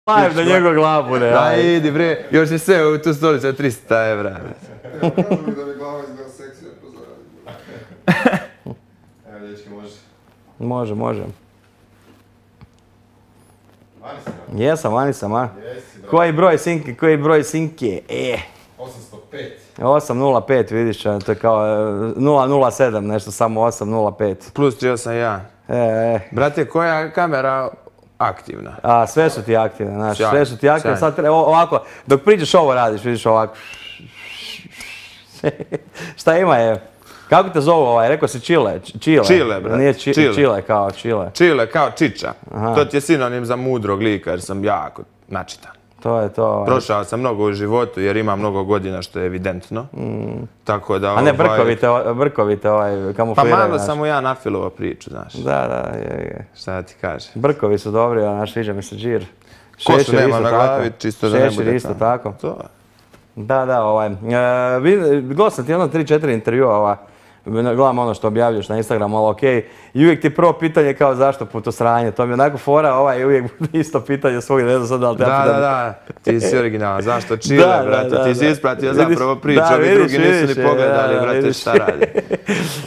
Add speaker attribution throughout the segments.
Speaker 1: Live na njegov glavu, ne.
Speaker 2: Da, idi bre, još je sve u tu stolicu 300 evra.
Speaker 3: Evo, kažu mi da mi glava izgleda seksi, ja to zaradim. Evo, dječki, može.
Speaker 1: Može.
Speaker 3: Vani si, bro.
Speaker 1: Jesam, vani sam, a?
Speaker 3: Jesi, bro.
Speaker 1: Koji broj sinke?
Speaker 3: 805.
Speaker 1: 805, vidiš, to je kao 007, nešto samo 805.
Speaker 2: Plus 381. Brate, koja je kamera aktivna?
Speaker 1: A, sve su ti aktivne, znaš,
Speaker 2: Sjajno,
Speaker 1: sve su ti aktivne.
Speaker 2: sjajno.
Speaker 1: Sad treba, ovako, dok priđeš ovo radiš, vidiš ovako. Šta ima je? Kako te zovu ovaj? Rekao si Čile.
Speaker 2: Čile, brate.
Speaker 1: Nije
Speaker 2: Čile.
Speaker 1: Čile kao Čile.
Speaker 2: Čile kao čiča.
Speaker 1: Aha.
Speaker 2: To ti je sinonim za mudrog lika jer sam jako načitan.
Speaker 1: To je to.
Speaker 2: Prošao sam mnogo u životu jer imam mnogo godina što je evidentno. Tako da...
Speaker 1: A ne brkovite
Speaker 2: Pa
Speaker 1: kamufliraju.
Speaker 2: malo
Speaker 1: znaš.
Speaker 2: sam mu ja nafilovao priču, znaš.
Speaker 1: Da, je.
Speaker 2: Šta da ti kaže?
Speaker 1: Brkovi su dobri, a naš sviđa mi se džir.
Speaker 2: Košu
Speaker 1: Šešir
Speaker 2: nema
Speaker 1: isto
Speaker 2: na
Speaker 1: tako.
Speaker 2: glavi, čisto da ne bude
Speaker 1: Šešir isto
Speaker 2: tamo.
Speaker 1: tako.
Speaker 2: To.
Speaker 1: Da, gledao sam ti jedno 3-4 intervjua, gledam ono što objavljaš na Instagramu, ali okej. I uvijek ti prvo pitanje kao zašto putosranje, to mi je onako fora, uvijek bude isto pitanje svog, ne znam sad da li te ja pitam.
Speaker 2: Da, ti si originalan. Zašto Čile,
Speaker 1: Da,
Speaker 2: brate? Ti si ispratio
Speaker 1: Vidiš,
Speaker 2: zapravo priču,
Speaker 1: da,
Speaker 2: ovi
Speaker 1: vidiš,
Speaker 2: drugi nisu
Speaker 1: vidiš,
Speaker 2: ni pogledali,
Speaker 1: da,
Speaker 2: brate,
Speaker 1: vidiš.
Speaker 2: šta radi.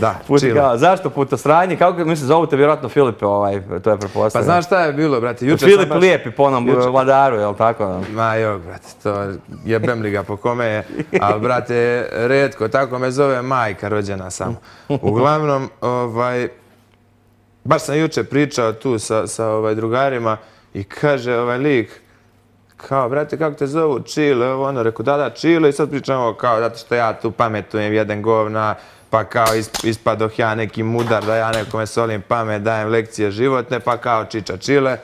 Speaker 2: Da, Čile.
Speaker 1: Kao, zašto putosranje, kako mislim, zovu te vjerojatno Filip, to je
Speaker 2: Pa
Speaker 1: pretpostavljeno.
Speaker 2: znaš šta je bilo, brate? Jučer
Speaker 1: Filip
Speaker 2: sam baš...
Speaker 1: Lijepi po onom vladaru, jel tako?
Speaker 2: Ma jok, brate, to jebem li ga po kome je, ali brate, retko, tako me zove majka rođena samo. Uglavnom, baš sam jučer pričao tu sa drugarima i kaže ovaj lik, kao, brate, kako te zovu, Čile, ovo ono, rekao, da, Čile, i sad pričamo kao, zato što ja tu pametujem jedan govna, pa kao ispadoh ja neki mudar, da ja nekome solim pamet, dajem lekcije životne, pa kao čiča Čile.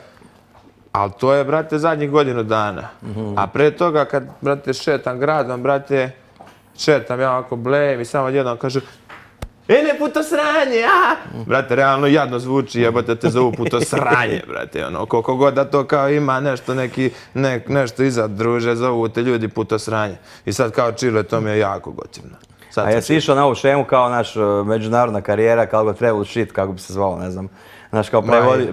Speaker 2: Ali to je, brate, zadnjih godinu dana. A pre toga, kad, brate, šetam gradom, brate, šetam ja ovako blejem i samo odjednom kažu ne putosranje, a! Brate, realno jadno zvuči, jebote, te zovu putosranje, brate, ono, koliko god da to kao ima nešto, nešto iza, druže, zovu te ljudi putosranje. I sad kao Čile, to mi je jako gotivno.
Speaker 1: A jesi išao na ovu šemu kao naš međunarodna karijera, kao ga travel shit, kako bi se zvalo, ne znam. Znaš, kao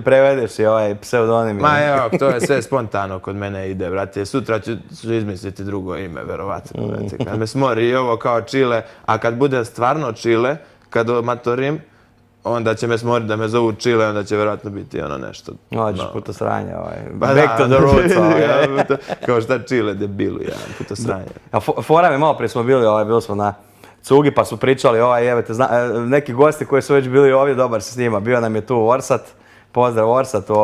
Speaker 1: prevedeš si ovaj pseudonim.
Speaker 2: Ma evo, to je sve spontano kod mene ide, brate. Sutra ću izmisliti drugo ime, verovatno, brate. Kad me smori i ovo kao Čile, a kad bude stvarno Čile, kad matorim, onda će me smoriti da me zovu Čile, onda će verovatno biti ono nešto.
Speaker 1: Hoćeš putosranje, back to the roots.
Speaker 2: Kao šta Čile, debilu, putosranje.
Speaker 1: Fora mi, malo prije smo bili smo na Cugi pa su pričali, neki gosti koji su već bili ovdje, dobar se s njima, bio nam je tu Orsat, pozdrav Orsatu,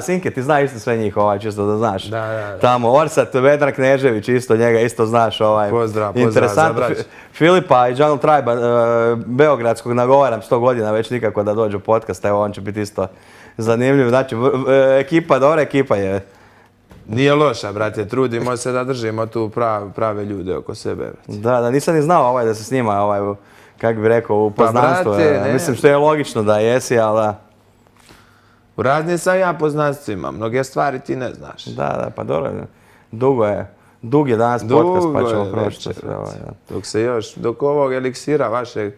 Speaker 1: Sinke, ti zna isto sve njih, čisto da znaš.
Speaker 2: Da.
Speaker 1: Tamo Orsat, Vedran Knežević, isto njega isto znaš,
Speaker 2: Pozdrav za brać.
Speaker 1: Filipa i Jungle Tribe, beogradskog, nagovaram 100 godina već nikako da dođu u podcast, evo on će biti isto zanimljiv, znači ekipa, dobra ekipa je.
Speaker 2: Nije loša, brate, trudimo se da držimo tu prave ljude oko sebe, brate.
Speaker 1: Da, nisam ni znao da se snima, kako bi rekao, u poznanstvu. Mislim što je logično da jesi, ali da.
Speaker 2: U raznim sam ja poznanstvima, mnoge stvari ti ne znaš.
Speaker 1: Da, pa dobro, dug je danas podcast pa ćemo proći sve.
Speaker 2: Dok ovog eliksira vaše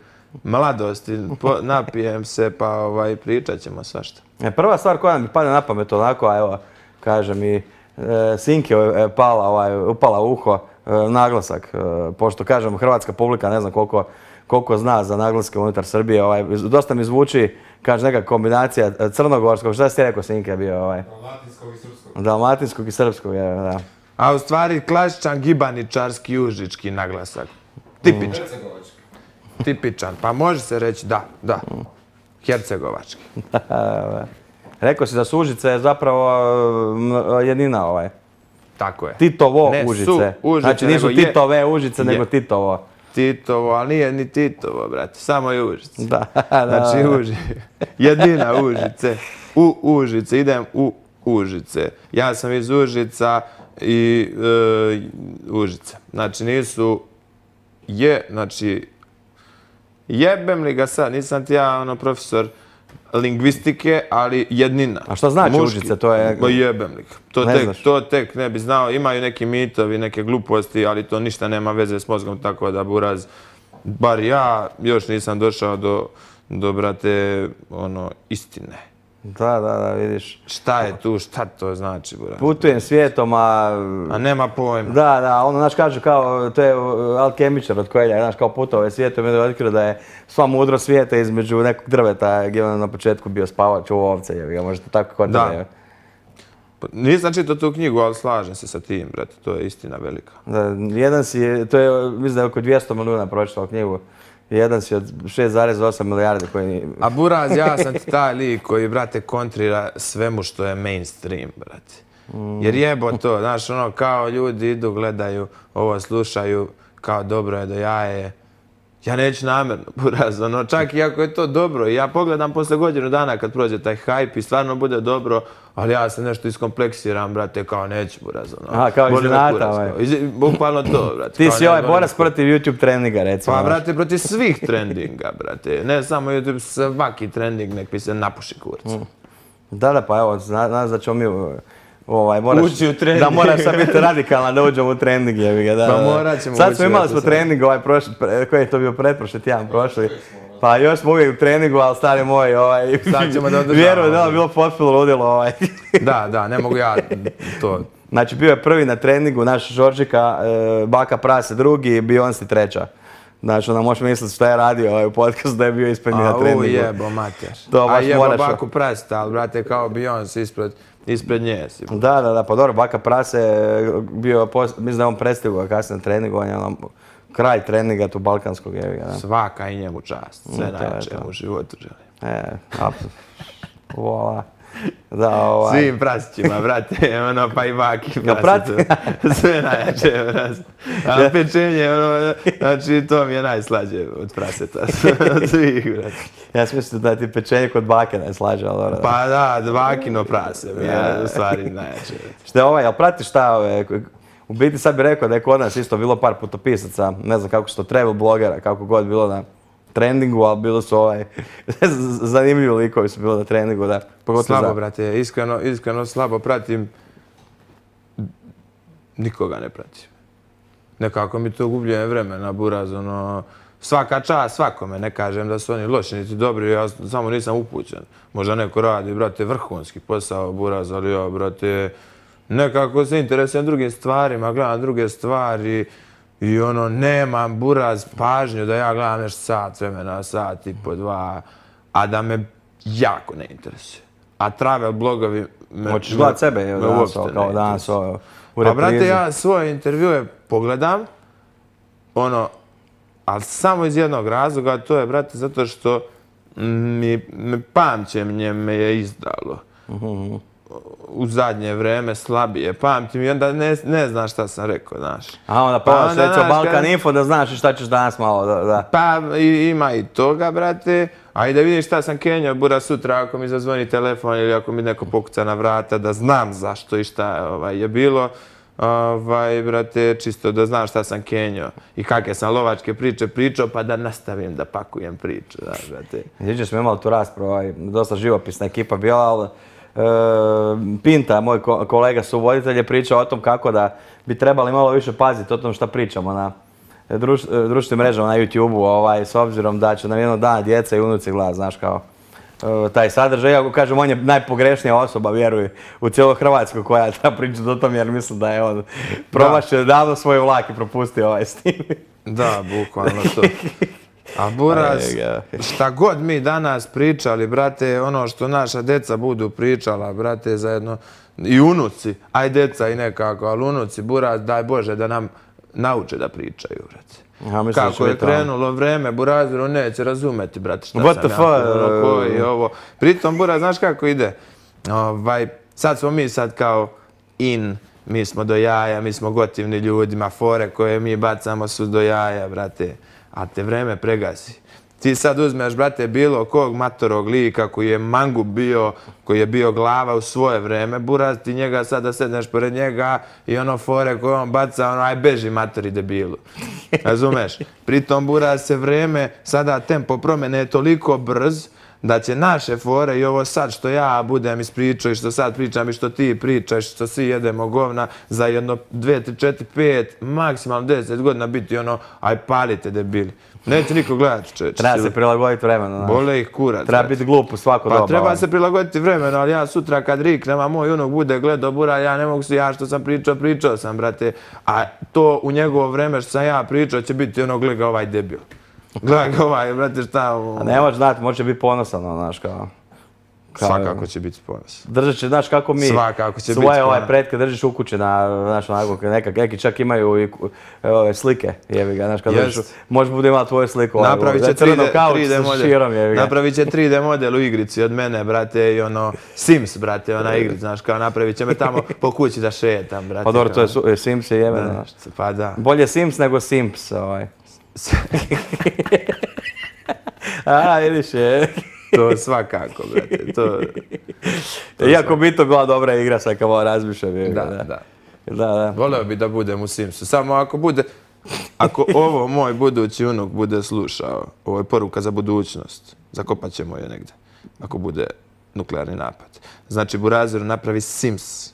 Speaker 2: mladosti napijem se pa pričat ćemo svašta.
Speaker 1: Prva stvar koja mi pada na pamet onako, evo, kaže mi, Sinke je upala u uho naglasak, pošto kažem hrvatska publika ne znam koliko zna za naglaske unutar Srbije, dosta mi zvuči, kaže neka kombinacija crnogorskog, šta si ti rekao Sinke bio?
Speaker 3: Dalmatinskog i srpskog.
Speaker 1: Dalmatinskog i srpskog, da.
Speaker 2: A u stvari klasičan gibaničarski užički naglasak. Tipičan. Tipičan, pa može se reći da. Hercegovački.
Speaker 1: Rekao si da su Užice zapravo jednina
Speaker 2: Tako je.
Speaker 1: Titovo Užice. Znači nisu Titove Užice, nego Titovo.
Speaker 2: Titovo, ali nije ni Titovo, brate, samo je Užice.
Speaker 1: Da.
Speaker 2: Znači jednina Užice. U Užice, idem u Užice. Ja sam iz Užica i Užice. Znači nisu znači jebem li ga sad, nisam ti ja profesor lingvistike, ali jednina.
Speaker 1: A šta znači Užice? To je...
Speaker 2: Jebem li ga. To tek ne bi znao. Imaju neki mitovi, neke gluposti, ali to ništa nema veze s mozgom, tako da buraz, bar ja još nisam došao do brate, istine.
Speaker 1: Da, vidiš.
Speaker 2: Šta je tu, šta to znači, buraz?
Speaker 1: Putujem svijetom,
Speaker 2: A nema pojma.
Speaker 1: Da, ono, znaš, kaže kao, to je alkemičar od Coelha, znaš, kao putovao je svijetom i onda je otkrio da je sva mudro svijeta između nekog drveta gdje on na početku bio spavač u ovce, jebi ga, možete tako kod
Speaker 2: Da.
Speaker 1: tebe.
Speaker 2: Nisam čitao tu knjigu, ali slažem se sa tim, brate, to je istina velika.
Speaker 1: Da, jedan si, to je, mislim da je oko 200 milijuna pročitao knjigu. Jedan si od 6,8 milijardi koji ni...
Speaker 2: A buraz, ja sam ti taj lik koji, brate, kontrira svemu što je mainstream, brate. Jer jebo to, znaš, ono, kao ljudi idu, gledaju, ovo slušaju, kao dobro je do jaje. Ja neću namjerno, buraz, ono, čak i ako je to dobro, i ja pogledam posle godinu dana kad prođe taj hype i stvarno bude dobro, ali ja se nešto iskompleksiram, brate, kao neću, buraz, ono.
Speaker 1: Aha, kao
Speaker 2: boli me
Speaker 1: iznenata,
Speaker 2: kurac,
Speaker 1: ovaj.
Speaker 2: kao. Bukvalno to, brate.
Speaker 1: Ti
Speaker 2: kao
Speaker 1: si
Speaker 2: ne,
Speaker 1: ovaj
Speaker 2: boli me
Speaker 1: borac
Speaker 2: kurac.
Speaker 1: protiv YouTube trendinga, recimo.
Speaker 2: Pa,
Speaker 1: znaš.
Speaker 2: brate, protiv svih trendinga, brate. Ne samo YouTube, svaki trending nek mi se napuši kurac.
Speaker 1: Da, pa evo, znaš da ćemo mi
Speaker 2: Ući u trending.
Speaker 1: Da moraš sad biti radikalan da uđemo u trending, jebi ga, da.
Speaker 2: Pa morat ćemo
Speaker 1: Sad
Speaker 2: ući
Speaker 1: smo
Speaker 2: u
Speaker 1: imali
Speaker 2: to
Speaker 1: smo
Speaker 2: sad.
Speaker 1: trening koji je to bio pretprošli tjedan prošli. Pa još smo uvijek u treningu, ali stari moj,
Speaker 2: Sad ćemo da održavamo.
Speaker 1: vjeruj da je bilo potpuno ludilo,
Speaker 2: Da, ne mogu ja to.
Speaker 1: Znači bio je prvi na treningu, naš Žoržika, Baka Prase drugi, Beyoncé treća. Znači onda možeš misliti šta je radio u podcastu da je bio ispred njih na treningu.
Speaker 2: Jebo, mater.
Speaker 1: To baš
Speaker 2: A jebo
Speaker 1: moraš-
Speaker 2: baku prasta, ali brate, kao Beyoncé ispred nje si.
Speaker 1: Da, pa dobro, Baka Prase je bio, mislim da je on prestigao kasnije na treningu, on je ono kralj treninga tu balkanskog, jevi ga, da.
Speaker 2: Svaka i njemu čast. Sve
Speaker 1: to je
Speaker 2: najjače
Speaker 1: to.
Speaker 2: mu u životu želim.
Speaker 1: Vola. Da,
Speaker 2: Svim prasićima, brate, ono, pa i baki
Speaker 1: Jel
Speaker 2: prasicu. Sve najjače, brate. A pečenje, ono, znači, to mi je najslađe od praseta. Od svih, brate.
Speaker 1: Ja sam mislio da ti pečenje kod bake ne slaže, ali dobro.
Speaker 2: Pa da, bakino prase mi je u stvari najjače.
Speaker 1: Šta je jel pratiš šta u biti sad bih rekao da je kod nas isto bilo par putopisaca, ne znam kako su to travel blogera, kako god bilo na trendingu, ali bilo su zanimljivi likovi su bilo na treningu, da. Pogotovo
Speaker 2: Slabo, brate, iskreno slabo pratim. Nikoga ne pratim. Nekako mi to gubljenje vremena, buraz, ono, svaka čast svakome, ne kažem da su oni loši niti dobri, ja samo nisam upućen. Možda neko radi, brate, vrhunski posao, buraz, ali ja, brate, nekako se interesujem drugim stvarima, gledam druge stvari i ono, nemam, buraz, pažnju da ja gledam nešto sat vremena, sat i po dva, a da me jako ne interesuje. A travel blogovi
Speaker 1: Hoćeš gledat sebe, evo, danas, kao danas, u reprizi.
Speaker 2: Pa, brate, ja svoje intervjue pogledam, ono, ali samo iz jednog razloga, to je, brate, zato što pamćenje me je izdalo. U zadnje vreme slabije pamtim i onda ne znaš šta sam rekao, znaš.
Speaker 1: A onda pa recimo Balkan Info da znaš šta ćeš danas malo, da.
Speaker 2: Pa ima i toga, brate, a i da vidim šta sam kenjao, bura sutra ako mi zazvoni telefon ili ako mi neko pokuca na vrata, da znam zašto i šta je bilo. Brate, čisto da znam šta sam kenjao i kakve sam lovačke priče pričao, pa da nastavim da pakujem priču, da, brate.
Speaker 1: Jučer smo imali tu raspravu, dosta živopisna ekipa bila, ali Pinta, moj kolega suvoditelj, je pričao o tom kako da bi trebali malo više paziti o tom šta pričamo na društvenim mrežama na YouTube-u, s obzirom da će nam jednog dana djeca i unuci gledati, znaš, kao taj sadržaj. Iako kažem, on je najpogrešenija osoba, vjeruj, u cijeloj Hrvatskoj koja treba pričati o tom, jer mislim da je on promašio davno svoj vlak i propustio s tim.
Speaker 2: Da, bukvalno to. A buraz, šta god mi danas pričali, brate, ono što naša deca budu pričala, brate, zajedno, i unuci, aj deca i nekako, ali unuci, buraz, daj Bože da nam nauče da pričaju, brate. Kako je krenulo vreme, buraziru neće razumeti, brate, šta sam ja, koji je ovo. Pritom, buraz, znaš kako ide? Sad smo mi kao mi smo do jaja, mi smo gotivni ljudima, fore koje mi bacamo su do jaja, brate. A te vreme pregasi. Ti sad uzmeš, brate, bilo kog matorog lika koji je mangup bio, koji je bio glava u svoje vreme, buraz, ti njega sad da sedneš pored njega i ono fore koje on baca, ono, aj beži matori debilu. Razumeš? Pritom, buraz, se vreme, sada tempo promjene je toliko brz da će naše fore i ovo sad što ja budem ispričao i što sad pričam i što ti pričaš, što svi jedemo govna, za jedno 2, 3, 4, 5, maksimalno 10 godina biti ono, aj palite debili. Neće niko gledati, čovječe.
Speaker 1: Treba se prilagoditi vremenu.
Speaker 2: Bole ih kurac.
Speaker 1: Treba biti glup u svako doba.
Speaker 2: Pa treba se prilagoditi vremenu, ali ja sutra kad riknem, a moj unuk bude gledao bura, ja ne mogu se, ja što sam pričao sam, brate. A to u njegovo vreme što sam ja pričao će biti ono, gleda ovaj debil. Gleda ovaj, brate, šta...
Speaker 1: A ne može znati, može biti ponosan, znaš, kao...
Speaker 2: Svakako će biti ponosan.
Speaker 1: Držat će, znaš kako mi svoje pretke držiš u kući znaš, onako, neki čak imaju i slike, jebi ga, znaš, kad držiš, možeš bude imati tvoju sliku,
Speaker 2: napravit će 3D model,
Speaker 1: širom, jebi ga.
Speaker 2: Napravit će 3D model u igrici od mene, brate, i ono, Sims, brate, ona igrica, znaš, kao napravit će me tamo po kući da šetam, brate.
Speaker 1: Pa dobro, to je Sims je jebeno, znaš.
Speaker 2: Pa da.
Speaker 1: Bolje Sims nego Simps, A, vidiš je.
Speaker 2: To svakako, brate, to...
Speaker 1: Iako bi to bila dobra igra, sad kao malo razmišljam.
Speaker 2: Da. Voleo bi da budem u Simsu, samo ako bude... Ako ovo moj budući unuk bude slušao, ovo je poruka za budućnost, zakopat ćemo je negdje, ako bude nuklearni napad. Znači, Burazeru napravi Sims.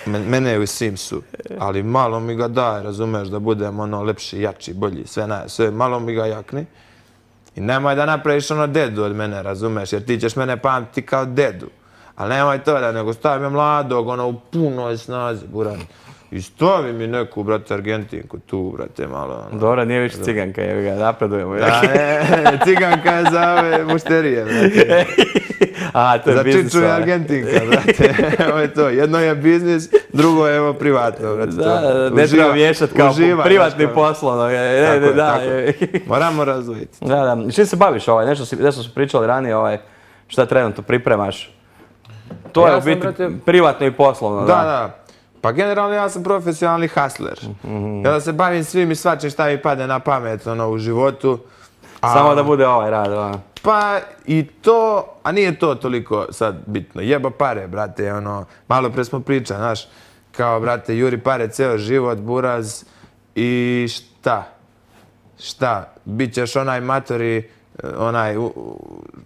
Speaker 2: Mene je u Simsu, ali malo mi ga daj, razumeš, da budem ono lepši, jači, bolji, sve malo mi ga jakni. I nemoj da napraviš ono dedu od mene, razumeš, jer ti ćeš mene pamtiti kao dedu. Ali nemoj to da, nego stavi me mladog, ono u punoj snazi, buran. I stavi mi neku, brate, Argentinku tu, brate, malo.
Speaker 1: Dobro, nije više ciganka, evo ga, napredujemo.
Speaker 2: Da, ne, ciganka je za ove mušterije, brate.
Speaker 1: A, to je biznis.
Speaker 2: Za Čiču je Argentinka, brate. Ovo je to. Jedno je biznis, drugo je evo privatno, brate.
Speaker 1: Da, ne treba miješati kao privatni poslovno.
Speaker 2: Tako. Moramo razvojiti.
Speaker 1: Da. Čim se baviš nešto smo pričali ranije, šta trenutno pripremaš? To je u biti privatno i poslovno.
Speaker 2: Da. Pa generalno ja sam profesionalni hustler. Ja se bavim svim i svačim šta mi pade na pamet u životu.
Speaker 1: Samo da bude ovaj rad.
Speaker 2: Pa i to, a nije to toliko sad bitno. Jeba pare, brate, malo pre smo pričali, znaš, kao, brate, juri pare ceo život, buraz i šta? Bićeš onaj matori, onaj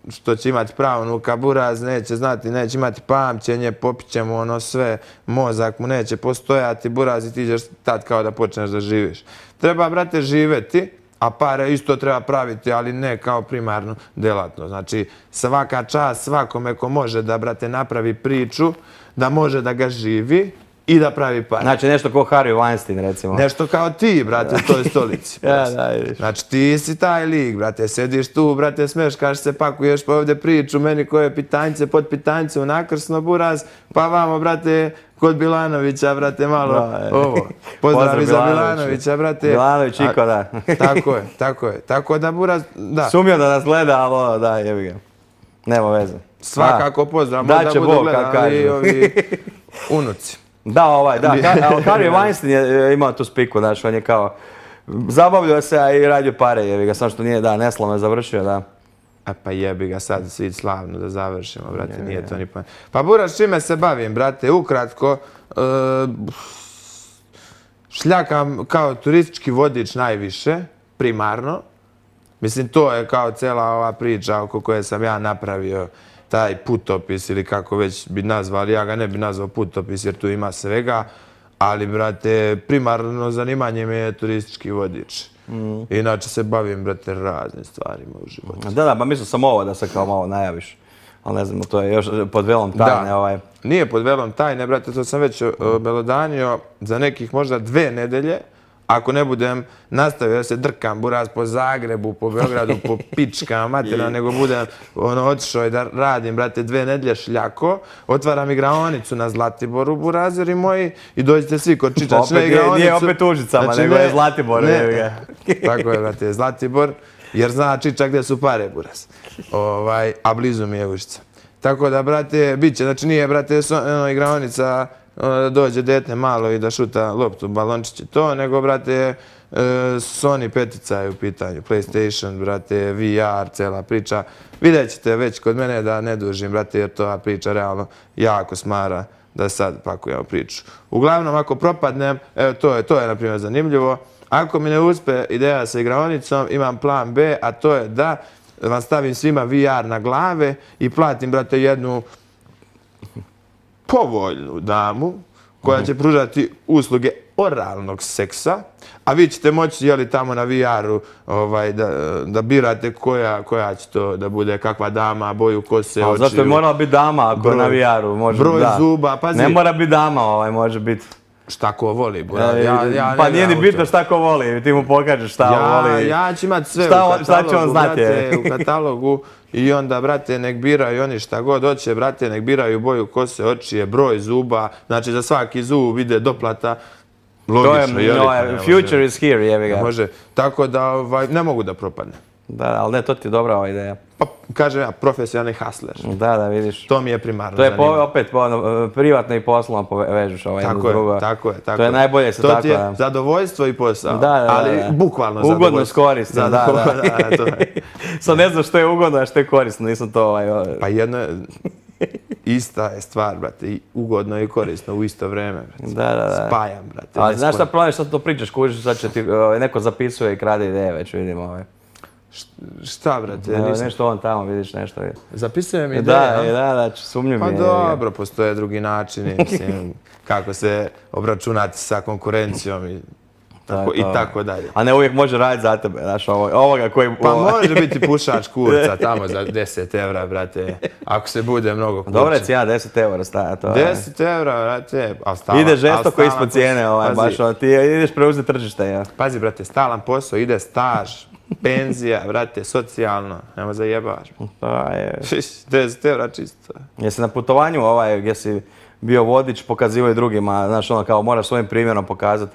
Speaker 2: što će imati pravnuka, buraz neće znati, neće imati pamćenje, popit će mu sve, mozak mu neće postojati, buraz i ti ćeš tad kao da počneš da živiš. Treba, brate, živeti, a pare isto treba praviti, ali ne kao primarnu delatnost. Znači, svaka čast svakome ko može da, brate, napravi priču, da može da ga živi i da pravi pare.
Speaker 1: Znači, nešto kao Harvey Weinstein, recimo.
Speaker 2: Nešto kao ti, brate, u toj stolici. Znači, ti si taj lik, brate, sediš tu, brate, smeškaš se, pakuješ pa ovdje priču, meni koje pitanjce, pod pitanjce, unakrsno, buraz, pa vamo, brate, kod Bilanovića, brate, malo ovo. Pozdrav za Bilanovića, brate.
Speaker 1: Bilanović, Iko, da.
Speaker 2: Tako je. Tako da, buraz, da.
Speaker 1: Sumio da nas gleda, ali da, jebi ga. Nema veze.
Speaker 2: Svakako pozdrav, možda budu gledali i ovi unuci.
Speaker 1: Da, Harvey Weinstein je imao tu spiku, znaš, on je kao zabavljao se, a i radio pare, jebi ga, samo što nije, neslavno je završio, da.
Speaker 2: Pa jebi ga sad svi slavno da završimo, brate, nije to ni pa... Pa buraz, čime se bavim, brate, ukratko, šljakam kao turistički vodič najviše, primarno. Mislim, to je kao cijela ova priča oko koje sam ja napravio, taj putopis ili kako već bi nazvali, ja ga ne bi nazvao putopis jer tu ima svega, ali, brate, primarno zanimanje mi je turistički vodič. Inače se bavim, brate, raznim stvarima u životu.
Speaker 1: Da, pa mislio sam ovo da se kao malo najaviš, ali ne znam, to je još pod velom tajne.
Speaker 2: Nije pod velom tajne, brate, to sam već obelodanio za nekih možda 2 nedelje. Ako ne budem nastavio da se drkam, buraz, po Zagrebu, po Beogradu, po pičkama materina, nego budem otišao i da radim, brate, 2 nedelje šljako, otvaram igraonicu na Zlatiboru, burazeri moji, i dođete svi kod Čičačne igraonicu.
Speaker 1: Nije opet Užicama, nego je Zlatibor.
Speaker 2: Tako je, brate, Zlatibor, jer zna Čiča gdje su pare, buraz. A blizu mi je Užica. Tako da, brate, bit će, znači nije, brate, igraonica da dođe dete malo i da šuta loptu, balončić i to, nego, brate, Sony 5 je u pitanju, PlayStation, brate, VR, cela priča. Vidjet ćete već kod mene da ne dužim, brate, jer to priča realno jako smara da sad pakujemo priču. Uglavnom, ako propadnem, evo, to je, na primjer, zanimljivo. Ako mi ne uspe ideja sa igraonicom, imam plan B, a to je da vam stavim svima VR na glave i platim, brate, jednu povoljnu damu koja će pružati usluge oralnog seksa, a vi ćete moći, jeli, tamo na VR-u da birate koja će to da bude, kakva dama, boju kose, očiju.
Speaker 1: Zašto je morala biti dama ako na VR-u?
Speaker 2: Broj zuba, pazi.
Speaker 1: Ne mora biti dama, može biti.
Speaker 2: Šta ko voli,
Speaker 1: pa nije ni bitno šta ko voli, ti mu pokažeš šta voli.
Speaker 2: Ja ću imati sve u katalogu i onda, brate, nek biraju oni šta god hoće, brate, nek biraju boju kose, očije, broj zuba, znači za svaki zub ide doplata. Logično,
Speaker 1: future is here, jebi ga.
Speaker 2: Može, tako da ne mogu da propadne.
Speaker 1: Da, ali ne, to ti je dobra ova ideja.
Speaker 2: Pa, kažem ja, profesionalni hustler.
Speaker 1: Da, vidiš.
Speaker 2: To mi je primarno
Speaker 1: zanimljivo. To je opet privatno i poslovno povežeš jedno drugo.
Speaker 2: Tako je.
Speaker 1: To je najbolje se tako.
Speaker 2: To ti je zadovoljstvo i posao, ali bukvalno zadovoljstvo.
Speaker 1: Ugodno s korisno, da. Sad ne znam što je ugodno, a što je korisno, nisam to
Speaker 2: Pa jedno je... Ista je stvar, brate, i ugodno i korisno u isto vreme, brate.
Speaker 1: Da.
Speaker 2: Spajam, brate.
Speaker 1: Ali znaš šta problem, šta to pričaš, kužiš, sad će ti neko zapisuje i krade ideje, već vidimo.
Speaker 2: Šta, brate?
Speaker 1: Nešto on tamo, vidiš nešto.
Speaker 2: Zapisujem ideje,
Speaker 1: Da, sumnjiv mi je.
Speaker 2: Pa dobro, postoje drugi načini, mislim, kako se obračunati sa konkurencijom i tako dalje.
Speaker 1: A ne uvijek može raditi za tebe, znaš, ovoga koji...
Speaker 2: Pa može biti pušač kurca tamo za 10 evra, brate, ako se bude mnogo kurča.
Speaker 1: Dobre cijena, 10 evra staja to.
Speaker 2: 10 evra, brate,
Speaker 1: ide žestoko ispod cijene, baš, ti ideš preuzeti tržište, ja.
Speaker 2: Pazi, brate, stalan posao, ide staž, penzija, brate, socijalno, nema zajebaš.
Speaker 1: Pa je.
Speaker 2: 10 evra čisto.
Speaker 1: Jesi na putovanju gdje si bio vodič, pokazivaju drugima, znaš, ono kao moraš svojim primjerom pokazati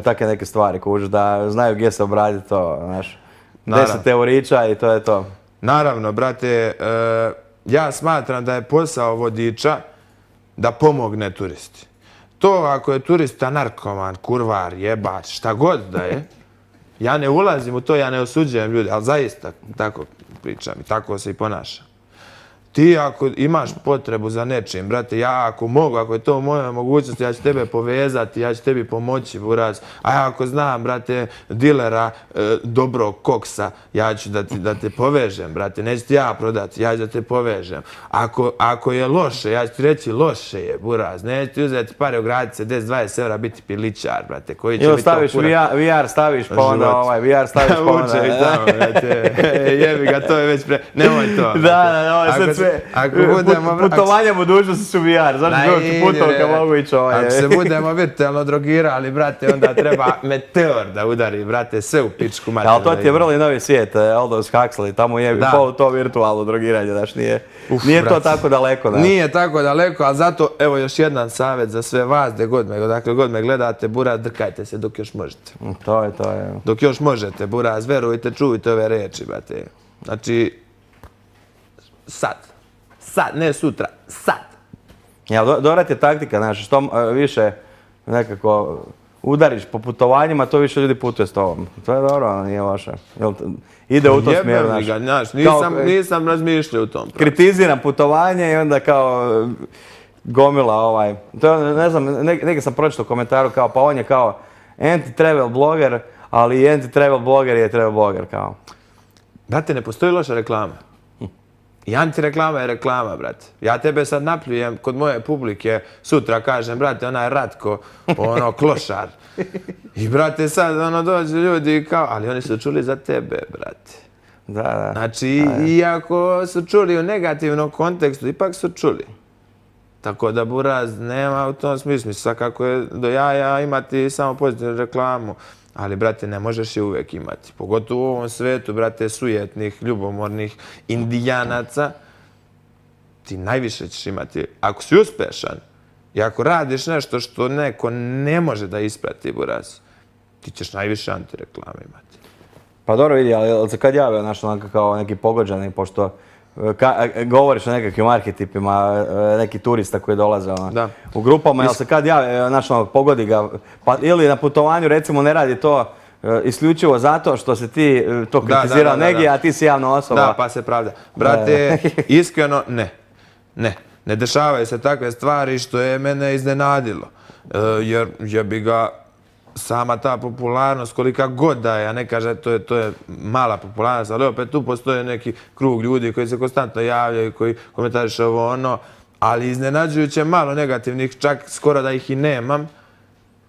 Speaker 1: takve neke stvari, kužiš, da znaju gdje se obraditi to, znaš. 10 eurića i to je to.
Speaker 2: Naravno, brate, ja smatram da je posao vodiča da pomogne turisti. To ako je turista narkoman, kurvar, jebač, šta god da je, ja ne ulazim u to, ja ne osuđujem ljude, ali zaista tako pričam i tako se i ponašam. Ti ako imaš potrebu za nečim, brate, ja ako mogu, ako je to u mojoj mogućnosti, ja ću tebe povezati, ja ću tebi pomoći, buraz. A ja ako znam, brate, dilera dobrog koksa, ja ću da te povežem, brate. Neću ti ja prodati, ja ću da te povežem. Ako je loše, ja ću ti reći loše je, buraz. Neću ti uzeti pare, ugraditi se 10-20 evra, biti pilićar, brate. Koji će biti
Speaker 1: staviš VR, staviš pa onda VR staviš pa onda.
Speaker 2: Uče i tamo, brate. Jebi ga, to je već nemoj to.
Speaker 1: Da, sad putovanja budućnosti su VR, znaš bilo ti putovka mogu ići
Speaker 2: Ako se budemo virtualno drogirali, brate, onda treba meteor da udari, brate, sve u pičku mater.
Speaker 1: Ali to ti je vrlo novi svijet, Aldous Huxley, tamo je to virtualno drogiranje, znaš, nije to tako daleko.
Speaker 2: Nije tako daleko, ali zato, evo još jedan savjet za sve vas, dakle god me gledate, buraz, drkajte se dok još možete.
Speaker 1: To je.
Speaker 2: Dok još možete, buraz, verujte, čujte ove reči, brate. Znači, sad, ne sutra, sad.
Speaker 1: Dobra ti je taktika, znaš, što više nekako udariš po putovanjima, to više ljudi putuje s tobom. To je dobro, nije loše. Ide u tom smjeru,
Speaker 2: znaš. Nisam razmišljao u tom.
Speaker 1: Kritiziram putovanje i onda kao gomila To je, ne znam, negdje sam pročitao u komentaru kao, pa on je kao anti-travel bloger, ali i anti-travel bloger je travel bloger, kao.
Speaker 2: Brate, ne postoji loša reklama. I antireklama je reklama, brate. Ja tebe sad napljujem kod moje publike, sutra kažem, brate, onaj Ratko, klošar. I, brate, sad dođu ljudi kao, ali oni su čuli za tebe, brate.
Speaker 1: Da.
Speaker 2: Znači, iako su čuli u negativnom kontekstu, ipak su čuli. Tako da, buraz, nema u tom smislu. Svakako je do jaja imati samo pozitivnu reklamu. Ali, brate, ne možeš je uvijek imati. Pogotovo u ovom svetu, brate, sujetnih, ljubomornih indijanaca. Ti najviše ćeš imati. Ako si uspešan i ako radiš nešto što neko ne može da isprati, buraz, ti ćeš najviše antireklame imati.
Speaker 1: Pa dobro vidi, ali se kad javio kao neki pogođani, pošto govoriš o nekakvim arhetipima, neki turista koji dolaze u grupama, jel se kad javi, pogodi ga, pa ili na putovanju recimo ne radi to isključivo zato što se ti to kritizirao negdje, a ti si javna osoba.
Speaker 2: Da, pa se pravda. Brate, iskreno ne dešavaju se takve stvari što je mene iznenadilo, jer bi ga sama ta popularnost, kolika god da je, ja ne kažem to je mala popularnost, ali opet tu postoje neki krug ljudi koji se konstantno javljaju, koji komentariše ovo ono, ali iznenađujuće malo negativnih, čak skoro da ih i nemam,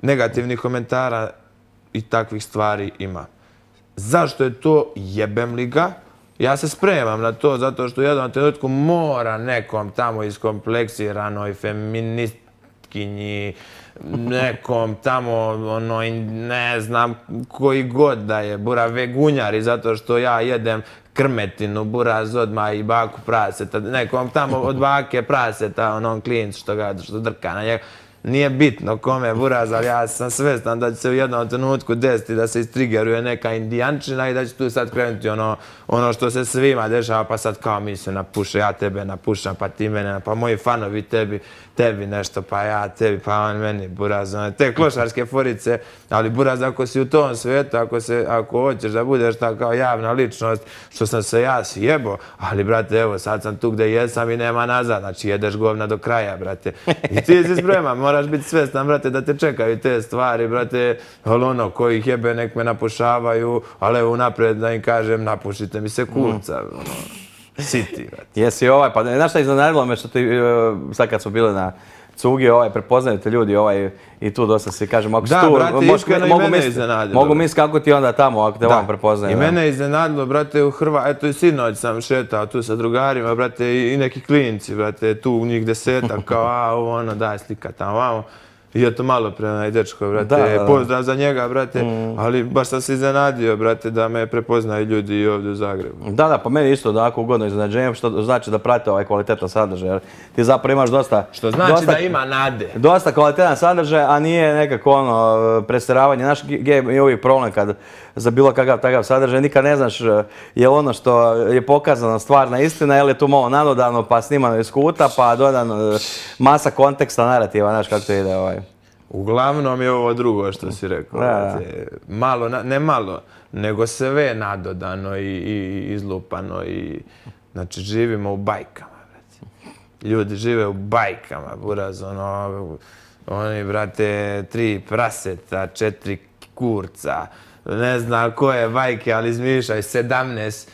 Speaker 2: negativnih komentara i takvih stvari ima. Zašto je to? Jebem li ga? Ja se spremam na to zato što u jednom trenutku mora nekom tamo iskompleksiranoj feministkinji, nekom tamo, ne znam koji god da je, bura vegunjari zato što ja jedem krmetinu, buraz odmah i baku praseta, nekom tamo od bake praseta, onom klincu što drka na njega. Nije bitno kome buraz, ali ja sam svestan da će se u jednom trenutku desiti da se istrigeruje neka indijančina i da će tu sad krenuti ono što se svima dešava, pa sad kao mi se napuše, ja tebe napušam, pa ti mene, pa moji fanovi tebi nešto, pa ja tebi, pa on meni buraz. Te klošarske forice, ali buraz ako si u tom svijetu, ako hoćeš da budeš ta kao javna ličnost, što sam se ja sjebo, ali brate, evo sad sam tu gde jesam i nema nazad, znači jedeš govna do kraja, brate. I ti si spreman, moraš biti svestan, brate, da te čekaju te stvari, brate, ali koji ih jebe nek me napušavaju, ali evo unaprijed da im kažem napušite mi se kulca, siti, brate.
Speaker 1: Jesi pa znaš šta iznenadilo me što ti, sad kad smo bili na cugi, prepoznaju te ljudi i tu dosta se kažem, ako si tu,
Speaker 2: iskreno i mene iznenadilo.
Speaker 1: Mogu misliti kako ti onda tamo, ako te vam prepoznaju.
Speaker 2: I mene je iznenadilo, brate, u Hrvatskoj, eto i sinoć sam šetao tu sa drugarima, brate, i neki klinci, brate, tu njih 10, kao, daj slika tamo, vamo. I eto malo pre onaj dečko, brate, pozdrav za njega, brate, ali baš sam se iznenadio, brate, da me prepoznaju ljudi i ovdje u Zagrebu.
Speaker 1: Da, pa meni isto onako ugodno iznenađenje, što znači da prate kvalitetan sadržaj, jer ti zapravo imaš dosta...
Speaker 2: Što znači da ima nade.
Speaker 1: Dosta kvalitetan sadržaj, a nije nekako prestiravanje. Naš je uvijek problem kad za bilo kakav takav sadržaj nikad ne znaš je ono što je pokazano stvarna istina, ili je tu malo nadodano, pa snimano iz kuta, pa dodano masa konteksta, narativa, znaš kako to ide.
Speaker 2: Uglavnom je ovo drugo što si rekao. Malo, ne malo, nego sve nadodano i izlupano. Znači, živimo u bajkama. Ljudi žive u bajkama, buraz, oni, brate, 3 praseta, 4 kurca, ne znam koje bajke, ali izmišljaj 17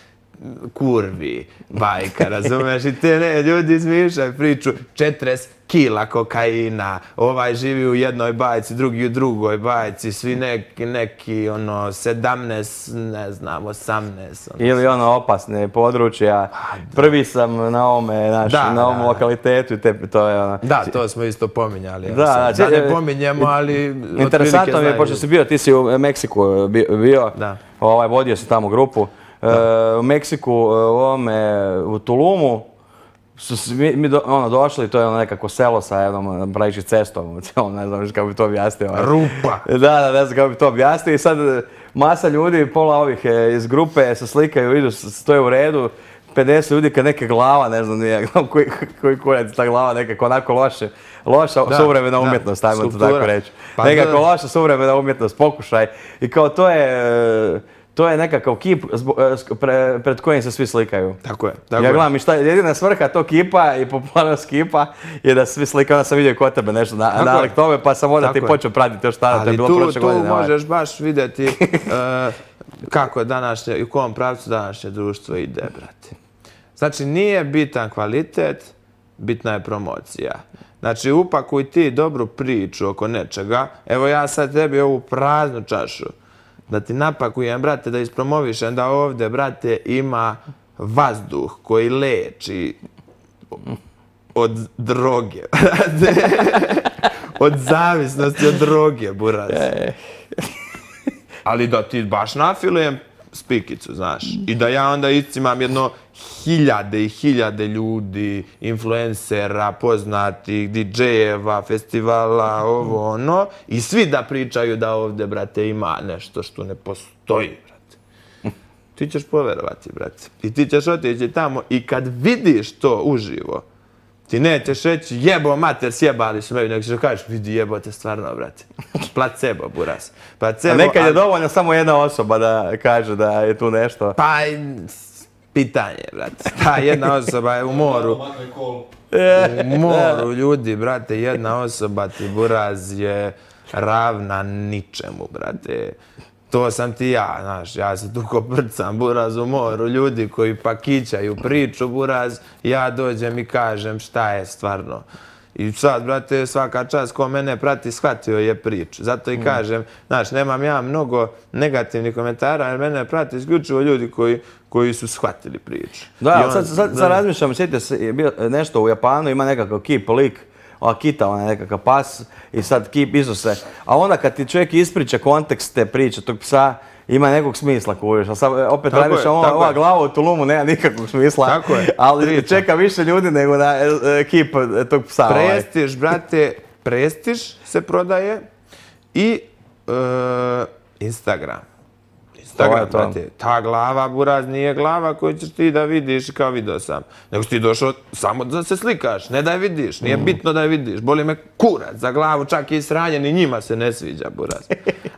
Speaker 2: kurvi bajka, razumeš? I te ljudi izmišljaju priču 40 kila kokaina, ovaj živi u jednoj bajci, drugi u drugoj bajci, svi neki 17, ne znam, 18.
Speaker 1: Ili opasne područja. Prvi sam na ovom lokalitetu i to je
Speaker 2: Da, to smo isto pominjali. Da ne pominjemo, ali...
Speaker 1: Interesantno mi je, pošto si bio, ti si u Meksiku bio, vodio si tamo grupu. U Meksiku, u Tulumu, su mi došli, to je nekako selo sa jednom pravići cestom, ne znam kako bi to objasnio.
Speaker 2: Rupa!
Speaker 1: Da, ne znam kako bi to objasnio i sad masa ljudi, pola ovih iz grupe se slikaju, idu, stoje u redu, 50 ljudi kad neke glava, ne znam nije, koji kurac ta glava, nekako onako loša suvremena umjetnost, ajmo to tako reći. Nekako loša suvremena umjetnost, pokušaj i kao to je nekakav kip pred kojim se svi slikaju.
Speaker 2: Tako je.
Speaker 1: Ja gledam i šta, jedina svrha tog kipa i popularnost kipa je da svi slikaju, onda sam vidio kod tebe nešto nalik tome, pa sam onda ti počeo pratiti još tada, to je bilo prošle godine.
Speaker 2: Ali tu možeš baš vidjeti kako je današnje i u kom pravcu današnje društvo ide, brate. Znači, nije bitan kvalitet, bitna je promocija. Znači, upakuj ti dobru priču oko nečega. Evo ja sad tebi ovu praznu čašu da ti napakujem, brate, da ispromovišem da ovdje, brate, ima vazduh koji leči od droge. Od zavisnosti od droge, buraz. Ali da ti baš nafilujem spikicu, znaš. I da ja onda iscimam jedno hiljade i hiljade ljudi, influencera, poznatih, DJ-eva, festivala, ovo, ono. I svi da pričaju da ovdje, brate, ima nešto što ne postoji, brate. Ti ćeš poverovati, brate. I ti ćeš otići tamo i kad vidiš to uživo, ti nećeš reći jebo mater, sjebali su me, nego ćeš kažeš vidi jebote stvarno, brate. Placebo, buraz.
Speaker 1: A nekad je dovoljno samo jedna osoba da kaže da je tu nešto.
Speaker 2: Pa pitanje, brate. Ta jedna osoba je u moru. U moru ljudi, brate, jedna osoba ti buraz je ravna ničemu, brate. To sam ti ja, znaš, ja se tu koprcam, buraz u moru, ljudi koji pakićaju priču, buraz, ja dođem i kažem šta je stvarno. I sad, brate, svaka čast ko mene prati, shvatio je priču. Zato i kažem, znaš, nemam ja mnogo negativnih komentara, jer mene prati isključivo ljudi koji su shvatili priču.
Speaker 1: Da, sad razmišljam, sjetite se, je bio nešto u Japanu, ima nekakav kip, lik, ova kita, ona nekakav pas i sad kip izose. A onda kad ti čovjek ispriča kontekst te priče, tog psa, ima nekog smisla, kužiš. A sad opet razmišljam, ova glava u tulumu nema nikakvog smisla.
Speaker 2: Tako je.
Speaker 1: Ali čeka više ljudi nego na kip tog psa.
Speaker 2: Prestiž, brate, prestiž se prodaje i Instagram. Instagram, brate, ta glava, buraz, nije glava koju ćeš ti da vidiš kao vidio sam. Nego si ti došao samo da se slikaš, ne da je vidiš, nije bitno da je vidiš. Boli me kurac za glavu, čak i sranjen i njima se ne sviđa, buraz.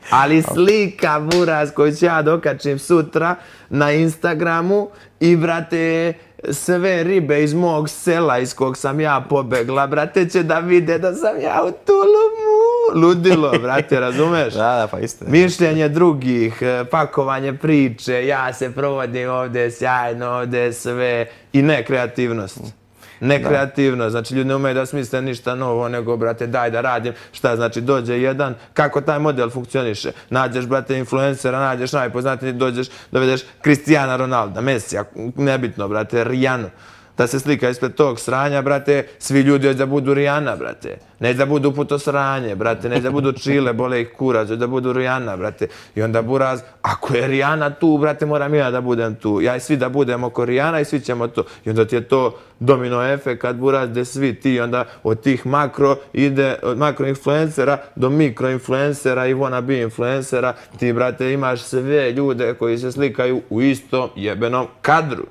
Speaker 2: Ali slika, buraz, koju ću ja dokačim sutra na Instagramu i, brate, sve ribe iz mog sela iz kog sam ja pobegla, brate, će da vide da sam ja u tulumu. Ludilo, brate, razumeš?
Speaker 1: Da, pa istina.
Speaker 2: Mišljenje drugih, pakovanje priče, ja se provodim ovdje sjajno, ovdje sve i nekreativnost. Nekreativnost, znači ljudi ne umeju da smisle ništa novo, nego, brate, daj da radim. Šta znači, dođe jedan, kako taj model funkcioniše? Nađeš, brate, influencera, nađeš najpoznatiji, dođeš, dovedeš Cristiana Ronalda, Mesija, nebitno, brate, Rijanu. Da se slika ispred tog sranja, brate, svi ljudi hoće da budu Rijana, brate. Ne da budu puto sranje, brate, ne da budu Čile, bole ih kurac, hoće da budu Rijana, brate. I onda buraz, ako je Rijana tu, brate, moram ja da budem tu. Ja i svi da budemo oko Rijana i svi ćemo to. I onda ti je to domino efekat, buraz, gde svi ti onda od tih makro ide, od makro influencera do mikro influencera i wannabe influencera. Ti, brate, imaš sve ljude koji se slikaju u istom jebenom kadru.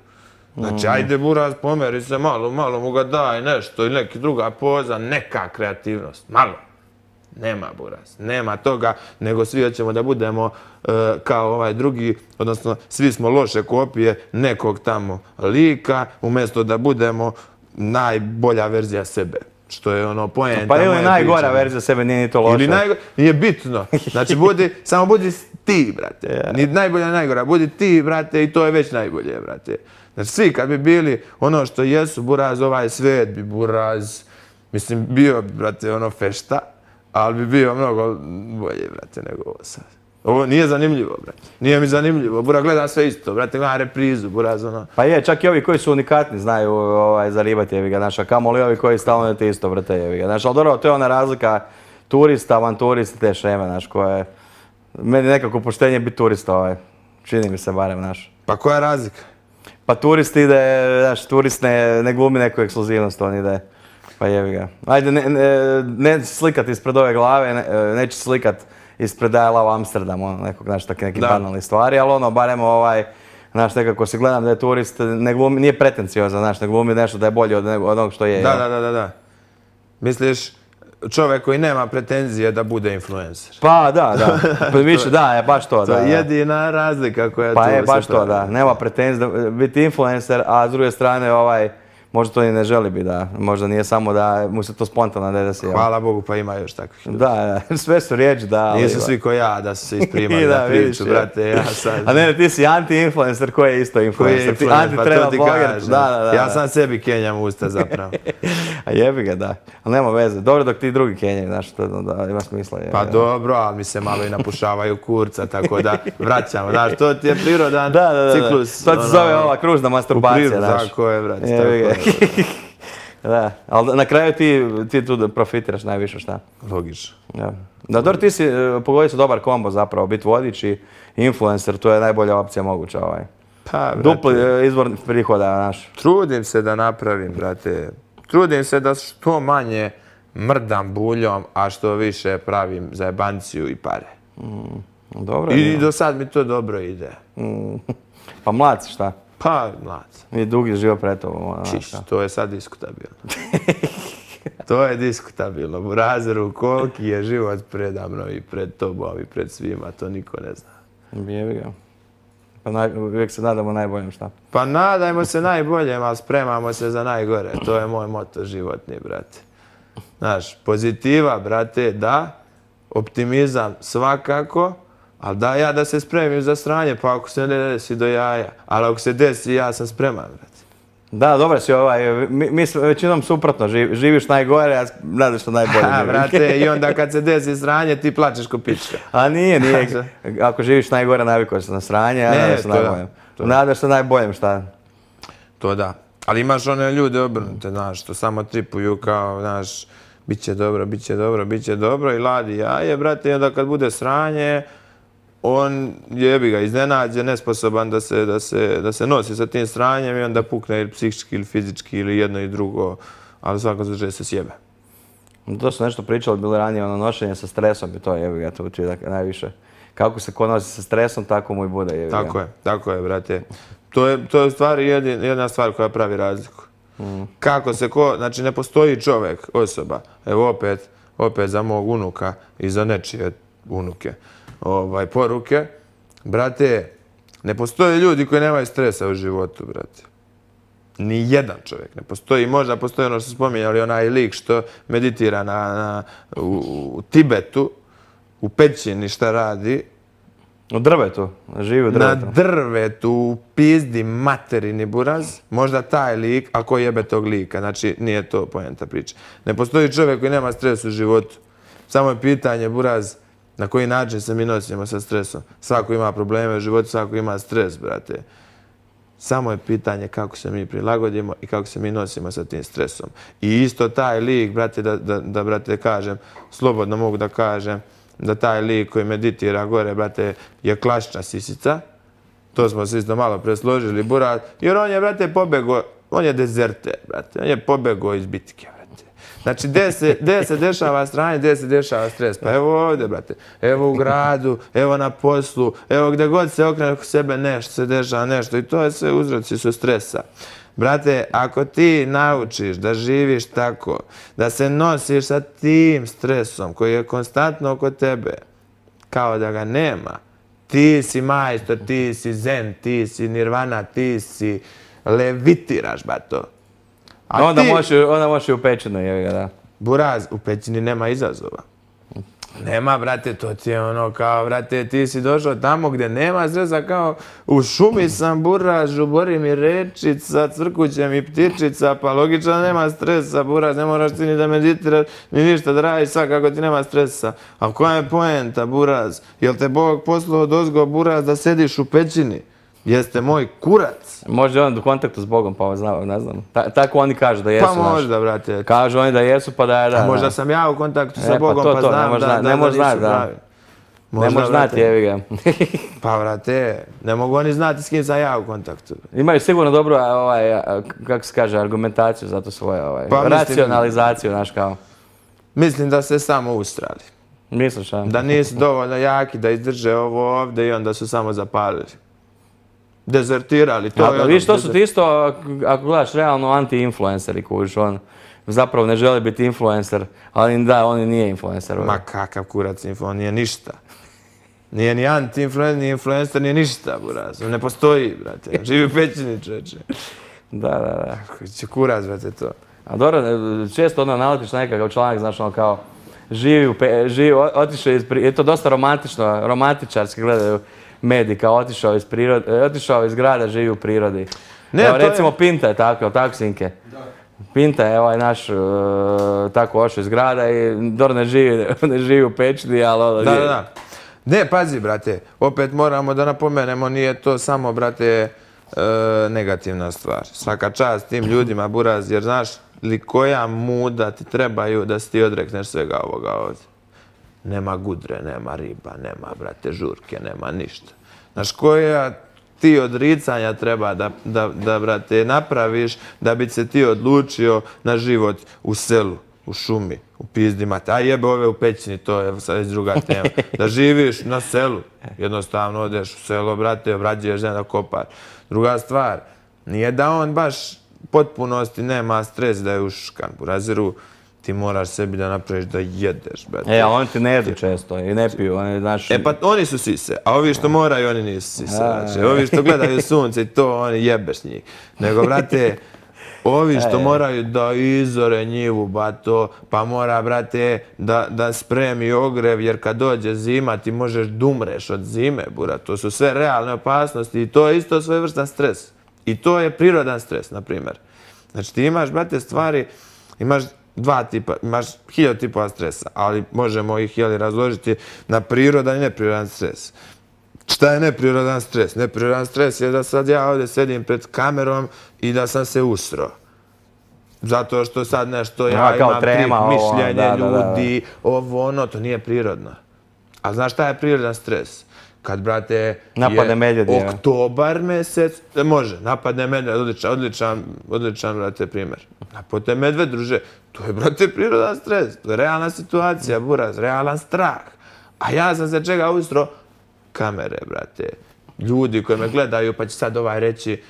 Speaker 2: Znači, ajde, buraz, pomeri se malo mu ga daj nešto ili neka druga poza, neka kreativnost, malo. Nema, buraz, nema toga, nego svi hoćemo da budemo kao ovaj drugi, odnosno svi smo loše kopije nekog tamo lika, umjesto da budemo najbolja verzija sebe. Što je ono poenta.
Speaker 1: Pa ili najgora verzija sebe, nije ni to loše.
Speaker 2: Nije bitno. Znači, samo budi ti, brate. Ni najbolja, najgora. Budi ti, brate, i to je već najbolje, brate. Znači, svi kad bi bili ono što jesu, buraz, ovaj svet bi, buraz, mislim, bio bi, brate, ono fešta, ali bi bio mnogo bolje, brate, nego ovo sad. Ovo nije zanimljivo, brate. Nije mi zanimljivo. Buraz, gledam sve isto, brate, gledam reprizu, buraz, ono.
Speaker 1: Pa je, čak i ovi koji su unikatni znaju zaribati, jevi ga, znaš, a kamoli ovi koji stalno te isto vrte, jevi ga. Znaš, ali dobro, to je ona razlika turista, avanturista, te šeme, znaš, koje... Meni nekako poštenje biti turista, čini mi se barem, znaš.
Speaker 2: Pa koja je razlika?
Speaker 1: Pa turist ide, znaš, turist ne glumi neku ekskluzivnost, on ide, pa jevi ga. Ajde, ne slikat ispred ove glave, neće slikat ispred I Love Amsterdam, ono, nekog, znaš, takve neke banalne stvari, ali ono, barem znaš, nekako se gledam da je turist, ne glumi, nije pretenciozan, znaš, ne glumi nešto da je bolje od onog što je.
Speaker 2: Da. Misliš, čovjek koji nema pretenzije da bude influencer.
Speaker 1: Pa da. Više, da, je baš to.
Speaker 2: To je jedina razlika koja tu se
Speaker 1: pravi. Pa je baš to, da. Nema pretenzije da biti influencer, a s druge strane možda to ni ne želi biti, da. Možda nije samo da mu se to spontano ne desi.
Speaker 2: Hvala Bogu, pa ima još takvih ljudi.
Speaker 1: Da, sve su riječi, da.
Speaker 2: Nisu svi ko ja da su se isprimali na priču, brate, ja sad...
Speaker 1: A ne, ti si anti-influencer koji je isto influencer.
Speaker 2: Koji je influencer, pa to ti kažem. Ja sam sebi kenjam usta zapravo.
Speaker 1: A jebi ga, da. Ali nema veze. Dobro dok ti drugi kenjaju, znaš, to ima smisla.
Speaker 2: Pa dobro, ali mi se malo i napušavaju kurca, tako da vraćamo. Znaš, to ti je prirodan ciklus.
Speaker 1: To ti zove ova kružna masturbacija, znaš.
Speaker 2: Tako je, brate, tako je.
Speaker 1: Da, ali na kraju ti tu profitiraš najviše, šta?
Speaker 2: Logično.
Speaker 1: Da, dobro, ti si pogodio se dobar kombo zapravo, biti vodič i influencer, to je najbolja opcija moguća.
Speaker 2: Pa,
Speaker 1: dupli izvor prihoda, znaš.
Speaker 2: Trudim se da napravim, brate. Trudim se da što manje mrdam buljom, a što više pravim zajebanciju i pare.
Speaker 1: Dobro.
Speaker 2: I do sad mi to dobro ide.
Speaker 1: Pa mlad si, šta?
Speaker 2: Pa, mlad.
Speaker 1: I dugi život pred tobom.
Speaker 2: Čiš, to je sad diskutabilno. To je diskutabilno. U razeru koliki je život predamno i pred tobom i pred svima, to niko ne zna.
Speaker 1: Jebi ga. Uvijek se nadamo najboljem, šta?
Speaker 2: Pa nadajmo se najboljem, ali spremamo se za najgore. To je moj moto životni, brate. Znaš, pozitiva, brate, da. Optimizam svakako. Ali da se spremim za sranje, pa ako se ne desi do jaja. Ali ako se desi, ja sam spreman, brate.
Speaker 1: Da, dobro si mi većinom suprotno, živiš najgore, a nadaš što najbolje živiš.
Speaker 2: Brate, i onda kad se desi sranje, ti plačeš ko pička.
Speaker 1: A nije. Ako živiš najgore, navikao se na sranje, a nadaš se najboljem. Nadaš se najboljem, šta?
Speaker 2: To da. Ali imaš one ljude obrnute, znaš, što samo tripuju kao, znaš, bit će dobro i ladi jaje, brate, i onda kad bude sranje, on jebi ga iznenađe, nesposoban da se nosi sa tim sranjem i onda pukne ili psihički ili fizički ili jedno i drugo, ali svako slučaju se sjebe.
Speaker 1: To su nešto pričali bili ranije, nošenje sa stresom i to jebi ga, to uči najviše. Kako se ko nosi sa stresom, tako mu i bude jebi ga.
Speaker 2: Tako je, brate. To je u stvari jedna stvar koja pravi razliku. Kako se znači ne postoji čovjek, osoba, evo opet za mog unuka i za nečije unuke. Poruke, brate, ne postoje ljudi koji nemaju stresa u životu, brate. Ni jedan čovjek ne postoji. Možda postoji ono što se spominjali, onaj lik što meditira u Tibetu, u pećini šta radi.
Speaker 1: U drvetu, živi u drvetu.
Speaker 2: Na drvetu, u pizdi materini buraz. Možda taj lik, a ko jebe tog lika. Znači, nije to poenta priče. Ne postoji čovjek koji nema stres u životu. Samo je pitanje, buraz, na koji način se mi nosimo sa stresom. Svako ima probleme u životu, svako ima stres, brate. Samo je pitanje kako se mi prilagodimo i kako se mi nosimo sa tim stresom. I isto taj lik, brate, da brate kažem, slobodno mogu da kažem, da taj lik koji meditira gore, brate, je klasična sisica. To smo se isto malo presložili, buraz. Jer on je, brate, pobegao, on je dezerter, brate. On je pobegao iz bitke, brate. Znači, gdje se dešava stranje, gdje se dešava stres? Pa evo ovdje, brate. Evo u gradu, evo na poslu, evo gdje god se okrene oko sebe nešto se dešava nešto. I to je sve uzroci su stresa. Brate, ako ti naučiš da živiš tako, da se nosiš sa tim stresom koji je konstantno oko tebe, kao da ga nema, ti si majstor, ti si zen, ti si nirvana, ti si levitiraš, bato.
Speaker 1: Onda možeš i u pećinu, jevi ga, da.
Speaker 2: Buraz, u pećini nema izazova. Nema, brate, to ti je ono kao, brate, ti si došao tamo gdje nema stresa, kao u šumi sam, buraz, žubori mi rečica, crkuće mi ptičica, pa logično nema stresa, buraz, ne moraš ti ni da meditiraš, ni ništa da radiš, svakako ti nema stresa. A koja je poenta, buraz? Jel te Bog poslao dozgo, buraz, da sediš u pećini? Jeste moj kurac.
Speaker 1: Možda je on u kontaktu s Bogom, pa ne znam. Tako oni kažu da jesu.
Speaker 2: Pa možda, brate.
Speaker 1: Kažu oni da jesu, pa da je da.
Speaker 2: A možda sam ja u kontaktu sa Bogom, pa znam da nisu pravi.
Speaker 1: Ne možeš znati, jevi ga.
Speaker 2: Pa, brate, ne mogu oni znati s kim sam ja u kontaktu.
Speaker 1: Imaju sigurno dobru, kako se kaže, argumentaciju za to svoje, racionalizaciju, znaš kao.
Speaker 2: Mislim da se samo ustrali.
Speaker 1: Misliš, a?
Speaker 2: Da nisu dovoljno jaki da izdrže ovo ovdje i onda su samo zapalili. Dezertirali.
Speaker 1: Viš, to su ti isto, ako gledaš realno, anti-influenceri, kužiš, on zapravo ne želi biti influencer, ali da, on nije influencer.
Speaker 2: Ma kakav kurac on nije ništa. Nije ni anti-influencer, ni influencer, nije ništa, buraz. Ne postoji, brate. Živi u pećini, čoveče.
Speaker 1: Da.
Speaker 2: Će kurac, brate, to.
Speaker 1: A dobro, često onda naletiš na nekakav članak, znaš, ono kao, otišao je to dosta romantično, romantičarski gledaju mediji, kao otišao iz grada, živi u prirodi. Evo, recimo Pinta je tako Sinke. Pinta je ovaj naš tako ošao iz grada i dobro ne živi u pećini, ali...
Speaker 2: Da. Ne, pazi, brate, opet moramo da napomenemo, nije to samo, brate, negativna stvar. Svaka čast tim ljudima, buraz, jer znaš li koja muda ti trebaju da si ti odrekneš svega ovoga ovdje. Nema gudre, nema riba, nema, brate, žurke, nema ništa. Znaš, koja ti odricanja treba da, brate, napraviš da bi se ti odlučio na život u selu, u šumi, u pizdi mate. A jebe ove u pećini, to je sad druga tema. Da živiš na selu, jednostavno odeš u selo, brate, obrađuješ zemlju, kopaš. Druga stvar, nije da on baš potpunosti nema stres da je uškan. U raziru ti moraš sebi da napraviš da jedeš, brate.
Speaker 1: A oni ti ne jedu često i ne piju, oni, znaš...
Speaker 2: Pa oni su sise, a ovi što moraju, oni nisu sise, znači. Ovi što gledaju sunce i to, oni jebeš njih. Nego, brate, ovi što moraju da izore njivu, bato, pa mora, brate, da spremi ogrev, jer kad dođe zima ti možeš da umreš od zime, bura. To su sve realne opasnosti i to je isto svojevrstan stres. I to je prirodan stres, na primjer. Znači ti imaš, brate, stvari, imaš dva tipa, imaš 1000 tipova stresa, ali možemo ih razložiti na prirodan i neprirodan stres. Šta je neprirodan stres? Neprirodan stres je da sad ja ovdje sedim pred kamerom i da sam se usro. Zato što sad nešto ja imam mišljenje ljudi, ovo ono, to nije prirodno. A znaš šta je prirodan stres? Kad, brate, je oktobar mesec, može, napadne medved, odličan, brate, primjer. Napadne medved, druže, to je, brate, prirodan stres, to je realna situacija, buraz, realan strah. A ja sam se čega ustro? Kamere, brate. Ljudi koji me gledaju, pa će sad reći,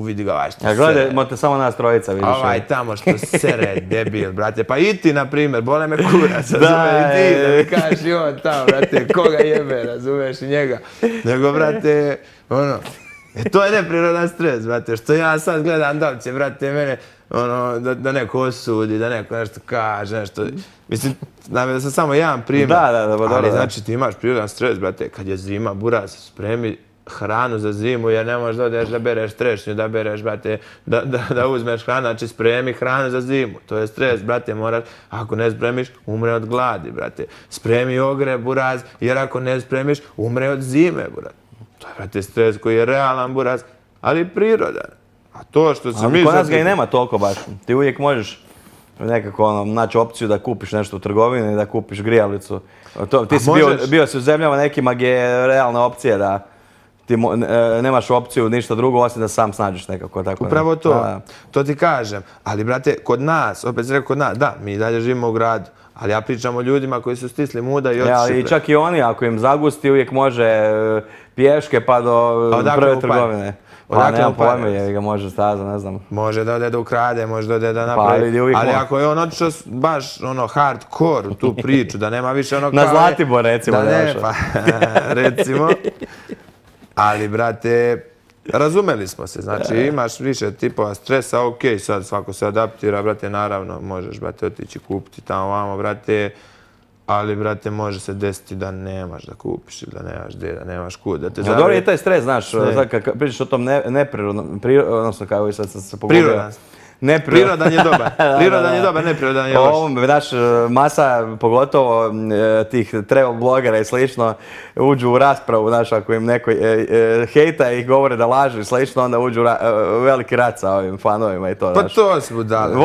Speaker 2: vidi ga ovaj što sere.
Speaker 1: Gledajmo te samo nas trojica, vidiš.
Speaker 2: Ovaj tamo što sere, debil, brate. Pa i ti, na primjer, bole me kurac, razumeš, i ti, da mi kažeš i on tamo, brate, koga jebe, razumeš, i njega. Nego, brate, ono, to je neprirodan stres, brate, što ja sad gledam da li će, brate, mene, ono, da neko osudi, da neko nešto kaže, nešto, mislim, da sam samo jedan primjer, ali znači ti imaš prirodan stres, brate, kad je zima, buraz, spremi hranu za zimu, jer ne možeš da odeš da bereš trešnju, da bereš, brate, da uzmeš hranu, znači spremi hranu za zimu. To je stres, brate, moraš, ako ne spremiš, umre od gladi, brate. Spremi ogrev, buraz, jer ako ne spremiš, umre od zime, brate. To je, brate, stres koji je realan, buraz, ali prirodan. A to što se mi...
Speaker 1: Kod nas ga i nema toliko baš. Ti uvijek možeš nekako naći opciju da kupiš nešto u trgovini, da kupiš grijalicu. Ti si bio si u zemljama nekima gdje je realna opcija da ti nemaš opciju ništa drugo osim da sam snađeš nekako.
Speaker 2: Upravo to, to ti kažem. Ali, brate, kod nas, opet se rekao kod nas, da, mi dalje živimo u gradu, ali ja pričam o ljudima koji su stisli muda i otišli.
Speaker 1: I čak i oni, ako im zagusti, uvijek može pješke pa do prve trgovine. Pa nemam pojma, jer ga može staza, ne znam.
Speaker 2: Može da ode da ukrade, može da ode da napravi. Ali ako je on otišao baš ono hardcore u tu priču, da nema više ono kao...
Speaker 1: Na Zlatibor, recimo.
Speaker 2: Da ne, pa recimo. Ali, brate, razumeli smo se. Znači, imaš više tipova stresa, okej, sad svako se adaptira, brate, naravno, možeš, brate, otići kupiti tamo vamo, brate, ali, brate, može se desiti da nemaš da kupiš ili da nemaš gdje, da nemaš kud, da te zavrije.
Speaker 1: Dobro je taj stres, znaš, kad pričaš o tom neprirodnom, odnosno kao i sad sam se pogubio.
Speaker 2: Prirodan. Prirodan je dobar. Prirodan je dobar, neprirodan je loš.
Speaker 1: Znaš, masa, pogotovo tih travel blogera i slično, uđu u raspravu, znaš, ako im neko hejta i govore da lažu i slično, onda uđu u veliki rat sa ovim fanovima i to,
Speaker 2: znaš. Pa to su budale,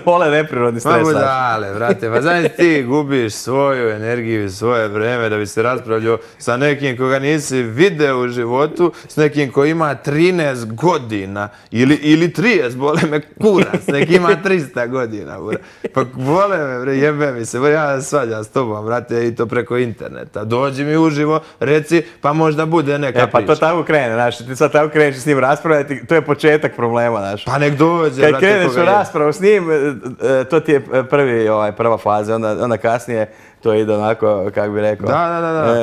Speaker 1: vole neprirodni stres, znaš.
Speaker 2: Pa budale, brate, pa znaš ti gubiš svoju energiju i svoje vreme da bi se raspravljao sa nekim koga nisi video u životu, s nekim ko ima 13 godina ili 30, bole me kurac, neki ima 300 godina, bura. Pa vole me, bre, jebe mi se, ja svađam s tobom, brate, i to preko interneta. Dođi mi uživo, reci, pa možda bude neka priča.
Speaker 1: Pa to tako krene, znaš, ti sad tako kreneš s njim raspravljati, to je početak problema, znaš.
Speaker 2: Pa nek dođe, brate,
Speaker 1: kad kreneš u raspravu s njim, to ti je prva faza, onda kasnije to ide onako, kako bi rekao,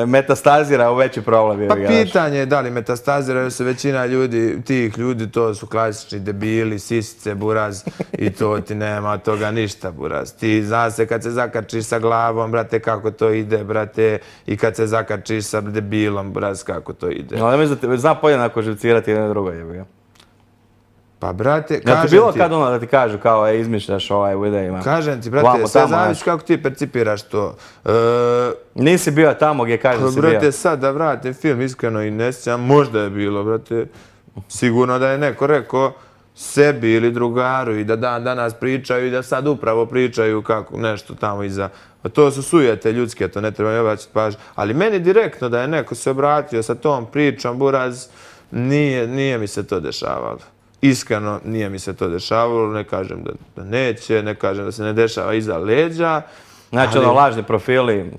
Speaker 1: metastazira u veći problem.
Speaker 2: Pa pitanje je da li metastaziraju se većina ljudi, tih ljudi, to su klasični debili, sisice, buraz i to ti nema od toga ništa, buraz. Ti zna se kad se zakačiš sa glavom, brate, kako to ide, brate, i kad se zakačiš sa debilom, buraz, kako to ide.
Speaker 1: No, ali mislim da zna podjednako živcirati jedno drugo, jebi.
Speaker 2: Pa, brate,
Speaker 1: kažem ti... Ja ti bilo kad ono da ti kažu kao izmišljaš u videima?
Speaker 2: Kažem ti, brate, sve zavisi kako ti percipiraš to.
Speaker 1: Nisi bio tamo gdje kažeš da si bio.
Speaker 2: Brate, sad da vratim film, iskreno i ne sjećam, možda je bilo, brate. Sigurno da je neko rekao sebi ili drugaru i da danas pričaju i da sad upravo pričaju kako nešto tamo iza. To su sujete ljudske, to ne treba obraćati pažnju. Ali meni direktno da je neko se obratio sa tom pričom, buraz, nije mi se to dešavalo. Iskreno, nije mi se to dešavalo, ne kažem da neće, ne kažem da se ne dešava iza leđa.
Speaker 1: Znači, lažni profili.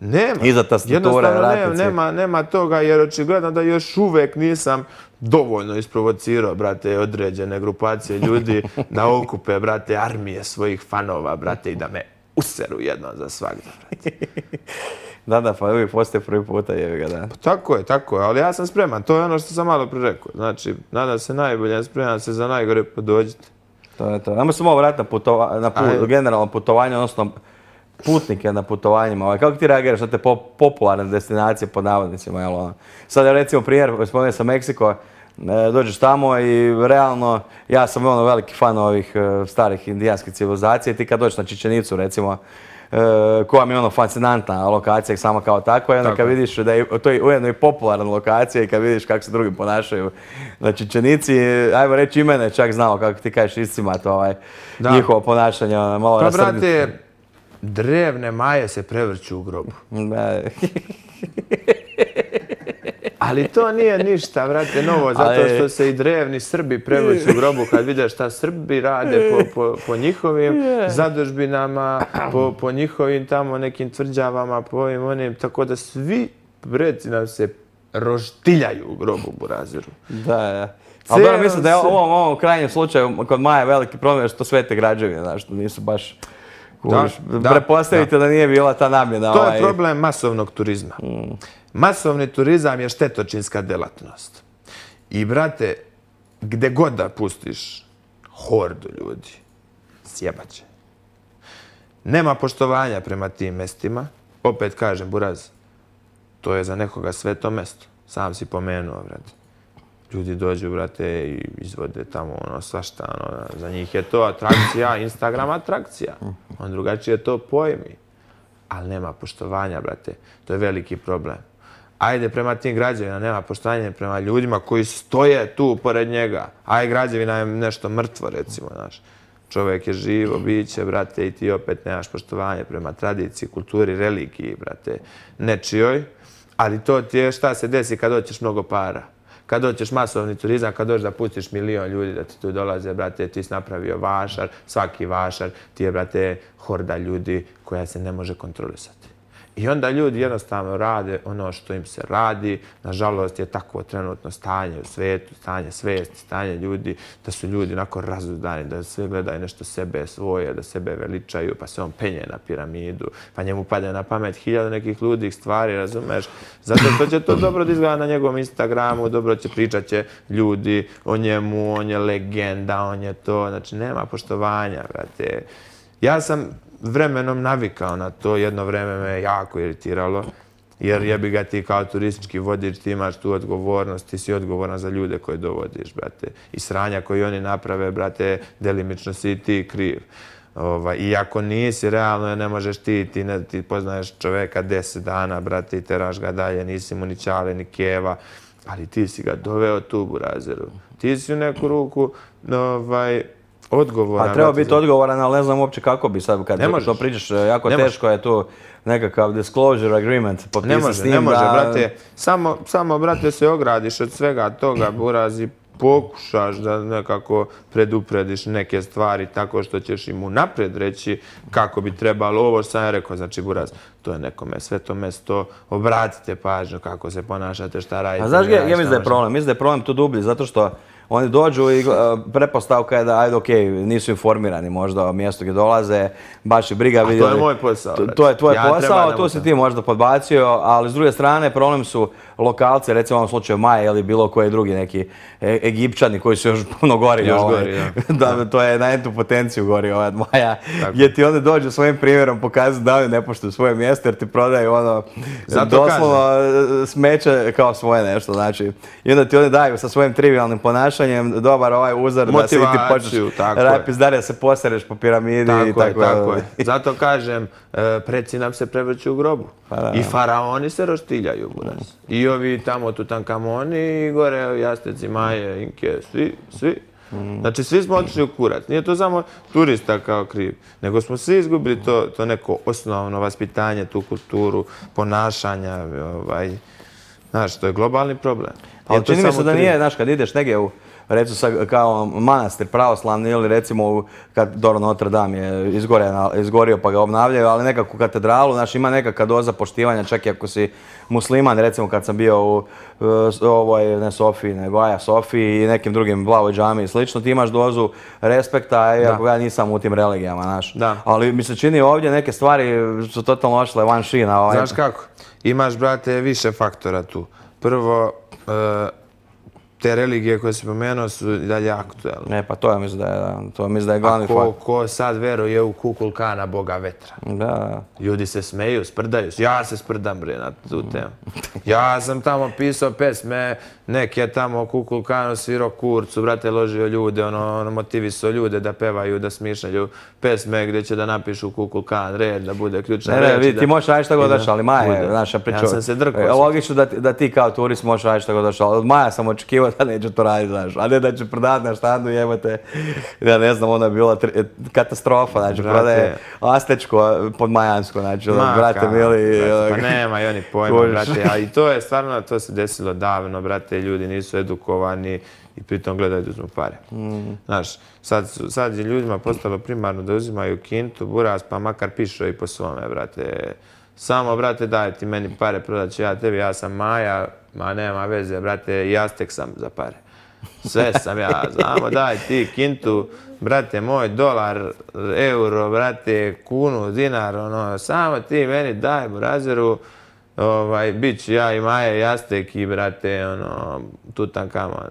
Speaker 2: Nema.
Speaker 1: Iza tastature,
Speaker 2: Jednostavno
Speaker 1: ratice.
Speaker 2: nema toga jer očigledno da još uvek nisam dovoljno isprovocirao, brate, određene grupacije ljudi da okupe, brate, armije svojih fanova, brate, i da me useru jednom za svagda, brate.
Speaker 1: Da, pa uvijek postoje prvi puta, jebi ga, da.
Speaker 2: Tako je, ali ja sam spreman, to je ono što sam malo prije rekao. Znači, nadam se najbolje, spreman se za najgore, pa dođite.
Speaker 1: To je to. Ajmo se malo vratiti na generalno putovanje, odnosno putnike na putovanjima. Kako ti reagiraš na te popularne destinacije pod navodnicima? Jel, ono? Sad je recimo primjer, spomenuo sam Meksiko, dođeš tamo i realno, ja sam ono veliki fan ovih starih indijanskih civilizacija i ti kad dođeš na Čičenicu recimo, koja mi je ono fascinantna lokacija sama kao takva i onda kad vidiš da je to je ujedno i popularna lokacija i kad vidiš kako se drugi ponašaju na Čičenici, ajmo reći i mene čak znao kako ti kažeš iscimat njihovo ponašanje, malo
Speaker 2: pa
Speaker 1: rasrditi.
Speaker 2: brate, drevne Maje se prevrću u grobu. Ali to nije ništa, brate, novo, zato što se i drevni Srbi prevrću u grobu kad vide šta Srbi rade po njihovim zadužbinama, po njihovim tamo nekim tvrđavama, po ovim onim, tako da svi preci nam se roštiljaju u grobu, burazeru.
Speaker 1: Da. Ali dobro, mislim da je u ovom krajnjem slučaju kod Maja veliki problem što svete građevine, znaš, što nisu baš... Prepostavite da nije bila ta namjena.
Speaker 2: To je problem masovnog turizma. Masovni turizam je štetočinska delatnost. I, brate, gde god da pustiš hordu ljudi, sjebaće. Nema poštovanja prema tim mestima. Opet kažem, buraz, to je za nekoga sveto mesto. Sam si pomenuo, brate. Ljudi dođu, brate, i izvode tamo svašta. Za njih je to atrakcija, Instagram atrakcija. On drugačije to pojmi. Ali nema poštovanja, brate. To je veliki problem. Ajde prema tim građevina, nema poštovanja prema ljudima koji stoje tu pored njega. Ajde, građevina je nešto mrtvo, recimo, znaš. Čovjek je živo biće, brate, i ti opet nemaš poštovanje prema tradiciji, kulturi, religiji, brate, nečijoj. Ali to ti je šta se desi kad hoćeš mnogo para. Kad doćeš masovni turizam, kad dođeš da pustiš 1 milion ljudi da ti tu dolaze, brate, ti si napravio vašar, svaki vašar ti je, brate, horda ljudi koja se ne može kontrolisati. I onda ljudi jednostavno rade ono što im se radi. Nažalost je takvo trenutno stanje u svijetu, stanje svijesti, stanje ljudi, da su ljudi onako razuzdani, da sve gledaju nešto sebe svoje, da sebe veličaju, pa se on penje na piramidu, pa njemu pada na pamet 1000 nekih ludih stvari, razumeš? Zato što će to dobro da izgleda na njegovom Instagramu, dobro će pričat će ljudi o njemu, on je legenda, on je to, znači nema poštovanja, brate. Ja sam vremenom navikao na to, jedno vreme me jako iritiralo, jer jebi ga ti kao turistički vodič, ti imaš tu odgovornost, ti si odgovoran za ljude koje dovodiš, brate. I sranja koji oni naprave, brate, delimično si ti kriv. I ako nisi, realno ne možeš ti poznaješ čoveka 10 dana, brate, i teraš ga dalje, nisi mu ni ćale, ni keva, ali ti si ga doveo tu, burazeru. Ti si u neku ruku, odgovoran.
Speaker 1: Pa treba biti odgovoran, ali ne znam uopće kako bi sad, kad to pričaš, jako teško je tu nekakav disclosure agreement potpisati s njim.
Speaker 2: Ne može, brate. Samo, brate, se ogradiš od svega toga, buraz, i pokušaš da nekako preduprediš neke stvari tako što ćeš im unaprijed reći kako bi trebalo ovo što sam ja rekao. Znači, buraz, to je nekome sveto mesto, obratite pažnju kako se ponašate, šta radite.
Speaker 1: A znaš gdje mislim da je problem? Mislim da je problem tu dublji, zato što oni dođu i pretpostavka je da, ajde, okej, nisu informirani možda o mjestu gdje dolaze, baš i briga vidjeli.
Speaker 2: A to je moj posao.
Speaker 1: To je tvoj posao, tu si ti možda podbacio, ali s druge strane problem su lokalci, recimo u ovom slučaju Maja ili bilo koji drugi neki Egipćani koji su još puno gori. To je na entu potenciju gori od Maja, gdje ti onda dođu svojim primjerom pokazati da oni ne poštuju svoje mjesto jer ti prodaju doslovno smeće kao svoje nešto, znači. I onda ti oni daju sa svojim trivialnim ponašanjem dobar uzor da se ti počneš pizdarija da se posereš po piramidi.
Speaker 2: Tako je. Zato kažem, preci nam se prevrću u grobu. I faraoni se roštiljaju, buraz. I ovi tamo Tutankamoni i gore Jasteci, Maje, Inke, svi. Znači, svi smo otišli u kurac. Nije to samo turista kao kriv, nego smo svi izgubili to neko osnovno vaspitanje, tu kulturu, ponašanja. Znaš, to je globalni problem.
Speaker 1: Ali čini mi se da nije, znaš, kad ideš negdje recimo sad kao manastir pravoslavni ili recimo kad Notre Dame je izgorio pa ga obnavljaju, ali nekakvu katedralu, znaš, ima nekakva doza poštivanja, čak i ako si musliman, recimo kad sam bio u ne Sofiji, nego Aja Sofiji i nekim drugim Blavoj džami i slično, ti imaš dozu respekta, iako ja nisam u tim religijama, znaš. Ali mi se čini ovdje neke stvari su totalno ošle van šina.
Speaker 2: Znaš kako? Imaš, brate, više faktora tu. Prvo, te religije koje si pomenuo su i dalje aktuelne.
Speaker 1: Ne, pa to mislim da je glavni faktor.
Speaker 2: Ko sad veruje u Kukulkana, boga vetra?
Speaker 1: Da.
Speaker 2: Ljudi se smeju, sprdaju se. Ja se sprdam, bre, na tu temu. Ja sam tamo pisao pesme, neke tamo o Kukulkanu svirao kurcu, brate, ložio ljude, motivisao ljude da pevaju, da smišljaju pesme gdje će da napišu Kukulkan, red, da bude ključna reč.
Speaker 1: Ne, ti možeš raditi šta god došli, ali Maja je naša priča.
Speaker 2: Ja sam se drkao.
Speaker 1: Logično da ti kao turist možeš raditi šta god došli, ali od Maja sam očekivao da neće to raditi, znaš, a ne da će prodati na štandu, jebate, ja ne znam, ona je bila katastrofa, znači, prodaje Astečko pod Majansko, znači, brate mili.
Speaker 2: Pa nema i oni pojma, brate, a i to je stvarno, to se desilo davno, brate, ljudi nisu edukovani i pritom gledaju da uzmu pare. Znaš, sad je ljudima postalo primarno da uzimaju kintu, buraz, pa makar pišu i po svome, brate. Samo, brate, daj ti meni pare, prodat ću ja tebi, ja sam Maja, ma nema veze, brate, i Aztek sam za pare. Sve sam ja, znamo, daj ti kintu, brate moj, dolar, euro, brate, kunu, dinar, samo ti meni daj, burazeru, bit ću ja i Maja i Aztek i, brate, Tutankamon.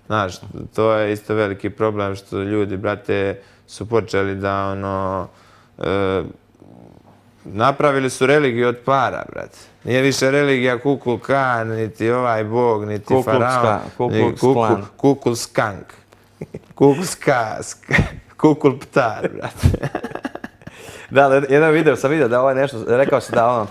Speaker 2: Znaš, to je isto veliki problem što ljudi, brate, su počeli da, napravili su religiju od para, brate. Nije više religija Kukulkan, niti ovaj bog, niti faraon. Kukulskank. Kukulptar, brate.
Speaker 1: Da, jedan video sam vidio da ovo je nešto, rekao si da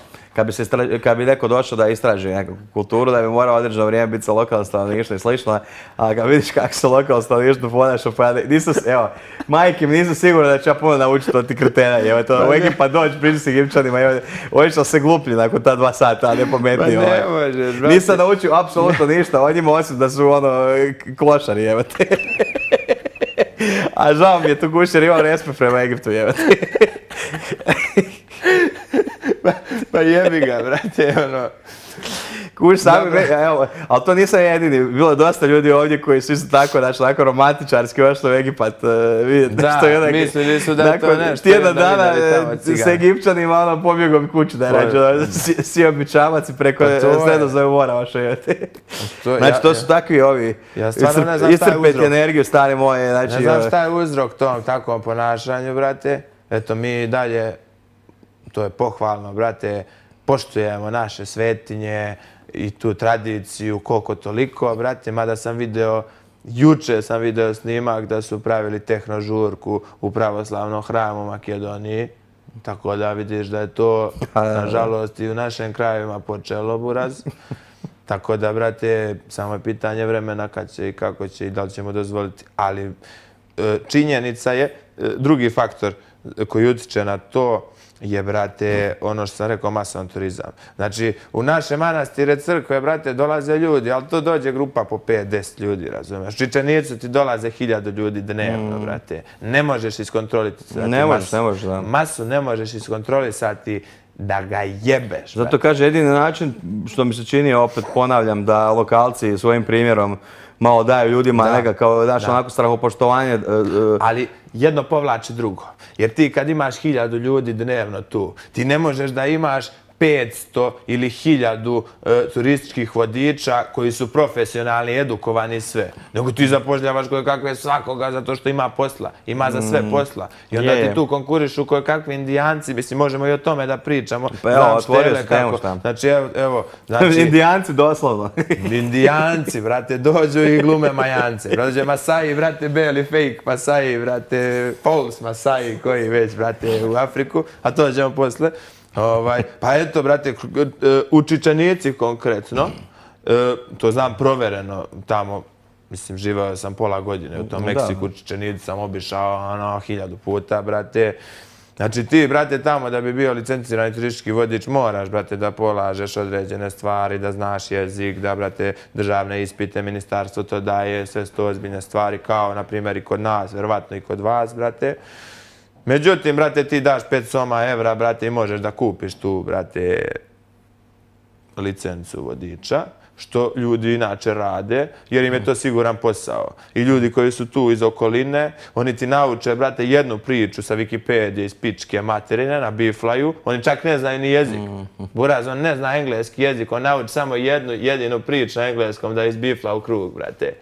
Speaker 1: kad bi neko došao da istraži neku kulturu, da bi morao određeno vrijeme biti sa lokalnom stanovništvom i slično, a kad vidiš kako se lokalno stanovništvo ponaša, pa evo, majke mi nisu sigurno da ću ja puno naučiti od tih kretena, evo, to u Egipat doći, pričati s Egipćanima, evo, obično se gluplji nakon ta 2 sata, a ne pametniji.
Speaker 2: Pa ne možeš, brate.
Speaker 1: Nisam naučio apsolutno ništa o njima, osim da su klošari, evo te. A žao mi je tu gušer, imam respekt prema Egiptu, evo te.
Speaker 2: Pa jebi ga, brate,
Speaker 1: Kuš sami, evo, ali to nisam jedini. Bilo je dosta ljudi ovdje koji su isto tako, znači, onako romantičarski ošli u Egipat.
Speaker 2: Da, mislili su da je to nešto.
Speaker 1: Tjedan dana s Egipćanima, pobjegom kuću da je rađe, sio bi čamac i preko Sredozemnog mora ošao. Znači, to su takvi ovi, iscrpeti energiju, stari moje.
Speaker 2: Ne znam šta je uzrok tom takvom ponašanju, brate. Eto, mi dalje, to je pohvalno, brate, poštujemo naše svetinje i tu tradiciju koliko toliko, brate, mada sam video, juče sam video snimak da su pravili tehnožurku u pravoslavnom hramu u Makedoniji, tako da vidiš da je to, nažalost, i u našim krajevima počelo, buraz. Tako da, brate, samo je pitanje vremena kad će i kako će i da li ćemo dozvoliti, ali činjenica je, drugi faktor koji utiče na to je, brate, ono što sam rekao, masovan turizam. Znači, u naše manastire, crkve, brate, dolaze ljudi, ali to dođe grupa po 5-10 ljudi, razumiješ? Čičanicu ti dolaze 1000 ljudi dnevno, brate. Ne možeš iskontrolisati
Speaker 1: ne možeš, da.
Speaker 2: Masu ne možeš iskontrolisati da ga jebeš.
Speaker 1: Zato kaže, jedini način, što mi se čini, opet ponavljam, da lokalci svojim primjerom malo daju ljudima nekakav, znaš, onako strahopoštovanje.
Speaker 2: Ali jedno povlači drugo. Jer ti kad imaš 1000 ljudi dnevno tu, ti ne možeš da imaš 500 ili 1000 turističkih vodiča koji su profesionalni, edukovani sve. Nego ti zapošljavaš kakve svakoga zato što ima posla. Ima za sve posla. I onda ti tu konkurišu kakvi Indijanci. Mislim, možemo i o tome da pričamo.
Speaker 1: Pa evo, otvorio se temu šta.
Speaker 2: Znači, evo.
Speaker 1: Indijanci, doslovno.
Speaker 2: Indijanci, brate, dođu i glume Majance. Dođe Masaji, brate, beli fake Masaji, brate, Pauls Masaji, koji već, brate, u Afriku. A to ćemo posle. Pa eto, brate, u Čičanici konkretno, to znam provereno tamo, mislim, živao sam pola godine u tom Meksiku, Čičanici sam obišao 1000 puta, brate. Znači ti, brate, tamo da bi bio licencirani turistički vodič moraš, brate, da polažeš određene stvari, da znaš jezik, da, brate, državne ispite, ministarstvo to daje, sve su to ozbiljne stvari, kao, na primjer, i kod nas, verovatno i kod vas, brate. Međutim, brate, ti daš 500 evra, brate, i možeš da kupiš tu, brate, licencu vodiča, što ljudi inače rade, jer im je to siguran posao. I ljudi koji su tu iz okoline, oni ti nauče, brate, jednu priču sa Wikipedije iz pičke materine na biflaju, oni čak ne znaju ni jezik. Buraz, on ne zna engleski jezik, on nauči samo jednu jedinu priču na engleskom da izbifla u krug, brate.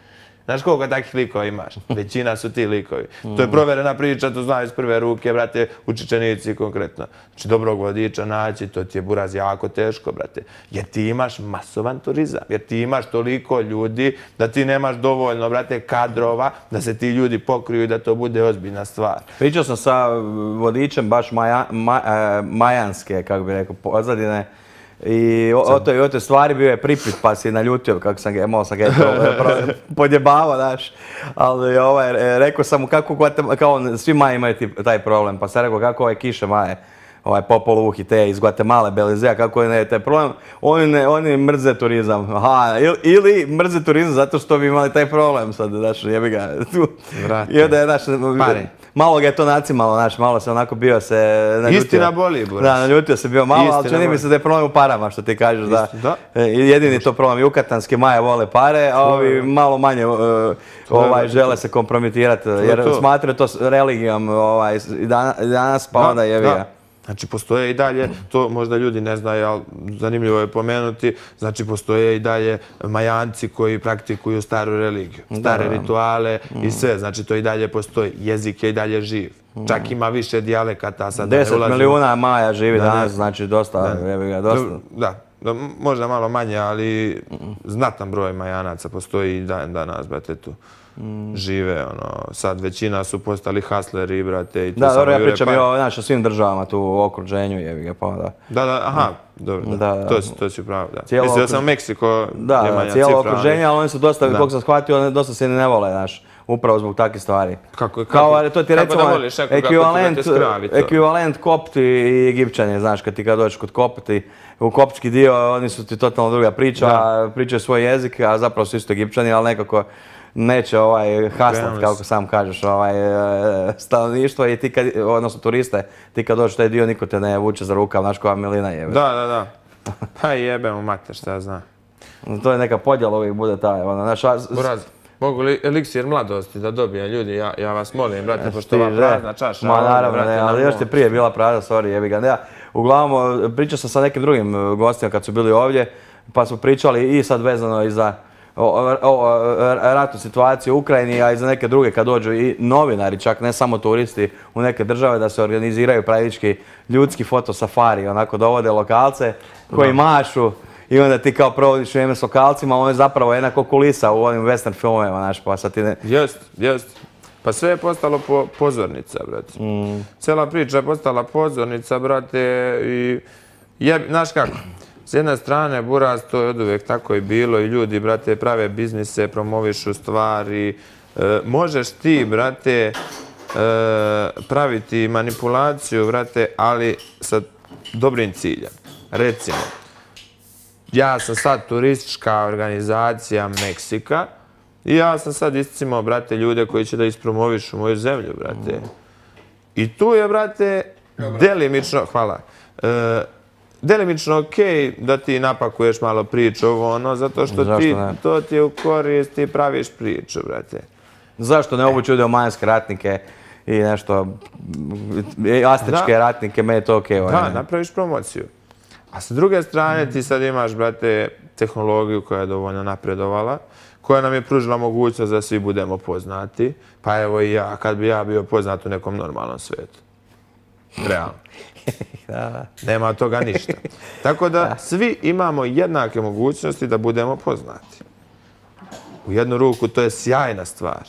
Speaker 2: Znaš koliko takih likova imaš? Većina su ti likovi. To je proverena priča, to znaju iz prve ruke, brate, učičenici konkretno. Znači, dobrog vodiča naći, to ti je, buraz, jako teško, brate. Jer ti imaš masovan turizam, jer ti imaš toliko ljudi da ti nemaš dovoljno, brate, kadrova, da se ti ljudi pokriju i da to bude ozbiljna stvar.
Speaker 1: Pričao sam sa vodičem baš majanske, kako bi rekao, pozadine. I o toj stvari bio je pripit, pa si naljutio kako sam ga, malo sam ga podjebavao, znaš. Ali rekao sam mu kako, kao svi Maji imaju taj problem, pa sam rekao kako ove kiše Maje, Popoluh i te iz Guatemala, Belizea, kako je taj problem, oni mrze turizam. Aha, ili mrze turizam zato što bi imali taj problem sad, znaš, jebi ga. I onda je, znaš, malo ga je to nacimalo, znaš, malo se onako bio se naljutio.
Speaker 2: Istina boli, buraz.
Speaker 1: Da, naljutio se bio malo, ali čini mi se da je problem u parama, što ti kažeš, da. Jedini to problem, Jukatanske Maje vole pare, a ovi malo manje žele se kompromitirati, jer smatraju to religijom i danas, pa onda jebi ga.
Speaker 2: Znači, postoje i dalje, to možda ljudi ne znaju, ali zanimljivo je pomenuti, znači, postoje i dalje Majanci koji praktikuju staru religiju, stare rituale i sve, znači, to i dalje postoji. Jezik je i dalje živ. Čak ima više dijalekata.
Speaker 1: 10 milijuna Maja živi danas, znači, dosta.
Speaker 2: Da, možda malo manje, ali znatan broj Majanaca postoji i danas, brate, tu. Žive, sad većina su postali hasleri, brate, i tu samo
Speaker 1: dobro, ja pričam i o svim državama tu u okruženju, jebi ga, pa da.
Speaker 2: Da, aha, dobro, to si pravo, da. Mislim da sam u Meksiko,
Speaker 1: da, cijelo okruženje, ali oni su dosta, kako sam shvatio, dosta se ne vole, znaš, upravo zbog takvih stvari.
Speaker 2: Kako
Speaker 1: ti
Speaker 2: da voliš nekoga ko ti skravi to?
Speaker 1: Ekvivalent Kopti i Egipćani, znaš, kad dođeš kod Kopti, u koptski dio, oni su ti totalno druga priča, pričaju svoj jezik, a zapravo su isto Egipćani, ali nekako neće haslat, kako sam kažeš, stanovništvo i ti kad, odnosno turiste, ti kad dođeš u taj dio, niko te ne vuče za rukav, znaš koja milina jebe.
Speaker 2: Da. Pa jebemo mater, šta ja znam.
Speaker 1: To je neka podjela, uvijek bude taj,
Speaker 2: Buraz, mogu li eliksir mladosti da dobije ljudi, ja vas molim, brate, pošto ova prazna čaša.
Speaker 1: Ma naravno, ne, ali još ti prije bila prazna, sorry, jebi ga. Uglavnom, pričao sam sa nekim drugim gostima kad su bili ovdje, pa smo pričali i sad vezano i za ratnu situaciju u Ukrajini, a i za neke druge kad dođu i novinari, čak ne samo turisti u neke države, da se organiziraju praktički ljudski fotosafari, onako dovode lokalce koji mašu i onda ti kao provodiš vrijeme s lokalcima, on je zapravo jednako kulisa u onim western filmovima, znaš, pa sad ti ne...
Speaker 2: Jest. Pa sve je postalo pozornica, brate. Cijela priča je postala pozornica, brate, i znaš kako? S jedne strane, buraz, to je oduvijek tako i bilo i ljudi, brate, prave biznise, promovišu stvari. Možeš ti, brate, praviti manipulaciju, brate, ali sa dobrim ciljem. Recimo, ja sam sad turistička organizacija Meksika i ja sam sad iscimao, brate, ljude koji će da ispromovišu moju zemlju, brate. I tu je, brate, delimično, hvala, delimično okej da ti napakuješ malo priču zato što to ti je u korist, ti praviš priču, brate.
Speaker 1: Zašto ne obući ljude u majanske ratnike i nešto, astičke ratnike, meni je to okej.
Speaker 2: Da, napraviš promociju. A sa druge strane ti sad imaš, brate, tehnologiju koja je dovoljno napredovala, koja nam je pružila mogućnost da svi budemo poznati, pa evo i ja, kad bi ja bio poznat u nekom normalnom svijetu. Realno. Nema od toga ništa. Tako da svi imamo jednake mogućnosti da budemo poznati. U jednu ruku to je sjajna stvar,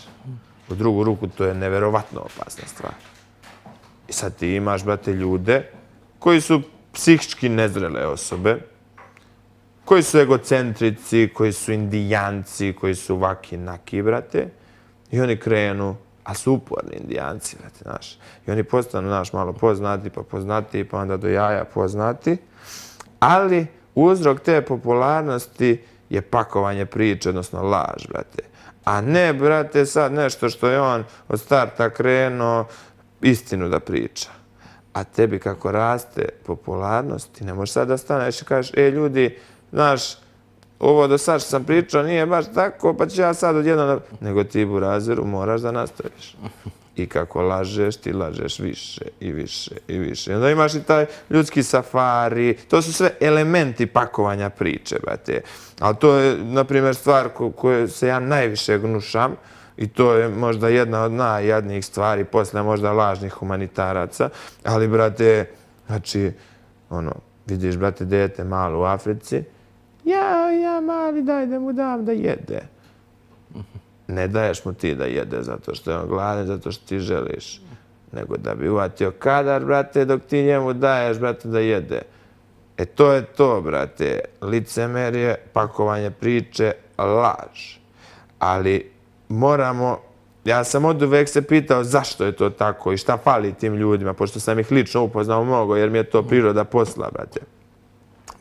Speaker 2: u drugu ruku to je neverovatno opasna stvar. I sad ti imaš, brate, ljude koji su psihički nezrele osobe, koji su egocentrici, koji su indijanci, koji su vaki naki, brate, i oni krenu a su uporni Indijanci, brate, znaš. I oni postanu, znaš, malo poznati, pa onda do jaja poznati. Ali uzrok te popularnosti je pakovanje priče, odnosno laž, brate. A ne, brate, sad nešto što je on od starta krenuo istinu da priča. A tebi kako raste popularnost, ti ne možeš sad da staneš i kažeš, ljudi, znaš, ovo do sad što sam pričao nije baš tako, pa ću ja sad odjednom... Nego ti, burazeru, moraš da nastaviš. I kako lažeš, ti lažeš više i više i više. I onda imaš i taj ljudski safari. To su sve elementi pakovanja priče, brate. Ali to je, na primjer, stvar koju se ja najviše gnušam. I to je možda jedna od najjadnijih stvari, posle možda lažnih humanitaraca. Ali, brate, znači, vidiš, brate, dete malo u Africi. Ja, mali, daj da mu dam da jede. Ne daješ mu ti da jede zato što je on gladan, zato što ti želiš. Nego da bi uvatio kadar, brate, dok ti njemu daješ, brate, da jede. To je to, brate. Licemerje, pakovanje priče, laž. Ali moramo... Ja sam od uvek se pitao zašto je to tako i šta fali tim ljudima, pošto sam ih lično upoznao mnogo, jer mi je to priroda posla, brate.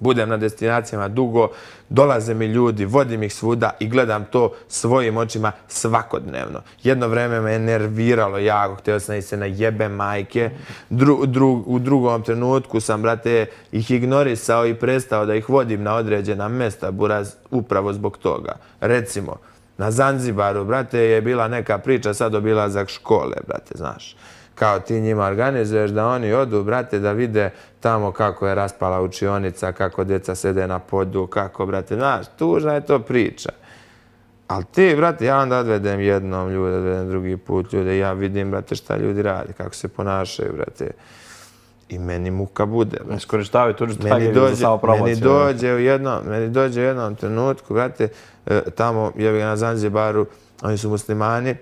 Speaker 2: Budem na destinacijama dugo, dolaze mi ljudi, vodim ih svuda i gledam to svojim očima svakodnevno. Jedno vreme me je nerviralo jako, htio sam ih se najebe majke. U drugom trenutku sam, brate, ih ignorisao i prestao da ih vodim na određena mesta, buraz, upravo zbog toga. Recimo, na Zanzibaru, brate, je bila neka priča sad obilazak škole, brate, znaš. Kao ti njima organizuješ da oni odu, brate, da vide tamo kako je raspala učionica, kako djeca sede na podu, kako, brate, znaš, tužna je to priča. Ali ti, brate, ja onda odvedem jednom ljude, odvedem drugi put ljude i ja vidim, brate, šta ljudi radi, kako se ponašaju, brate. I meni muka bude, brate.
Speaker 1: Iskorištavaju tuđu tragediju za samo promociju.
Speaker 2: Meni dođe u jednom trenutku, brate, tamo, je na Zanzibaru, oni su muslimani,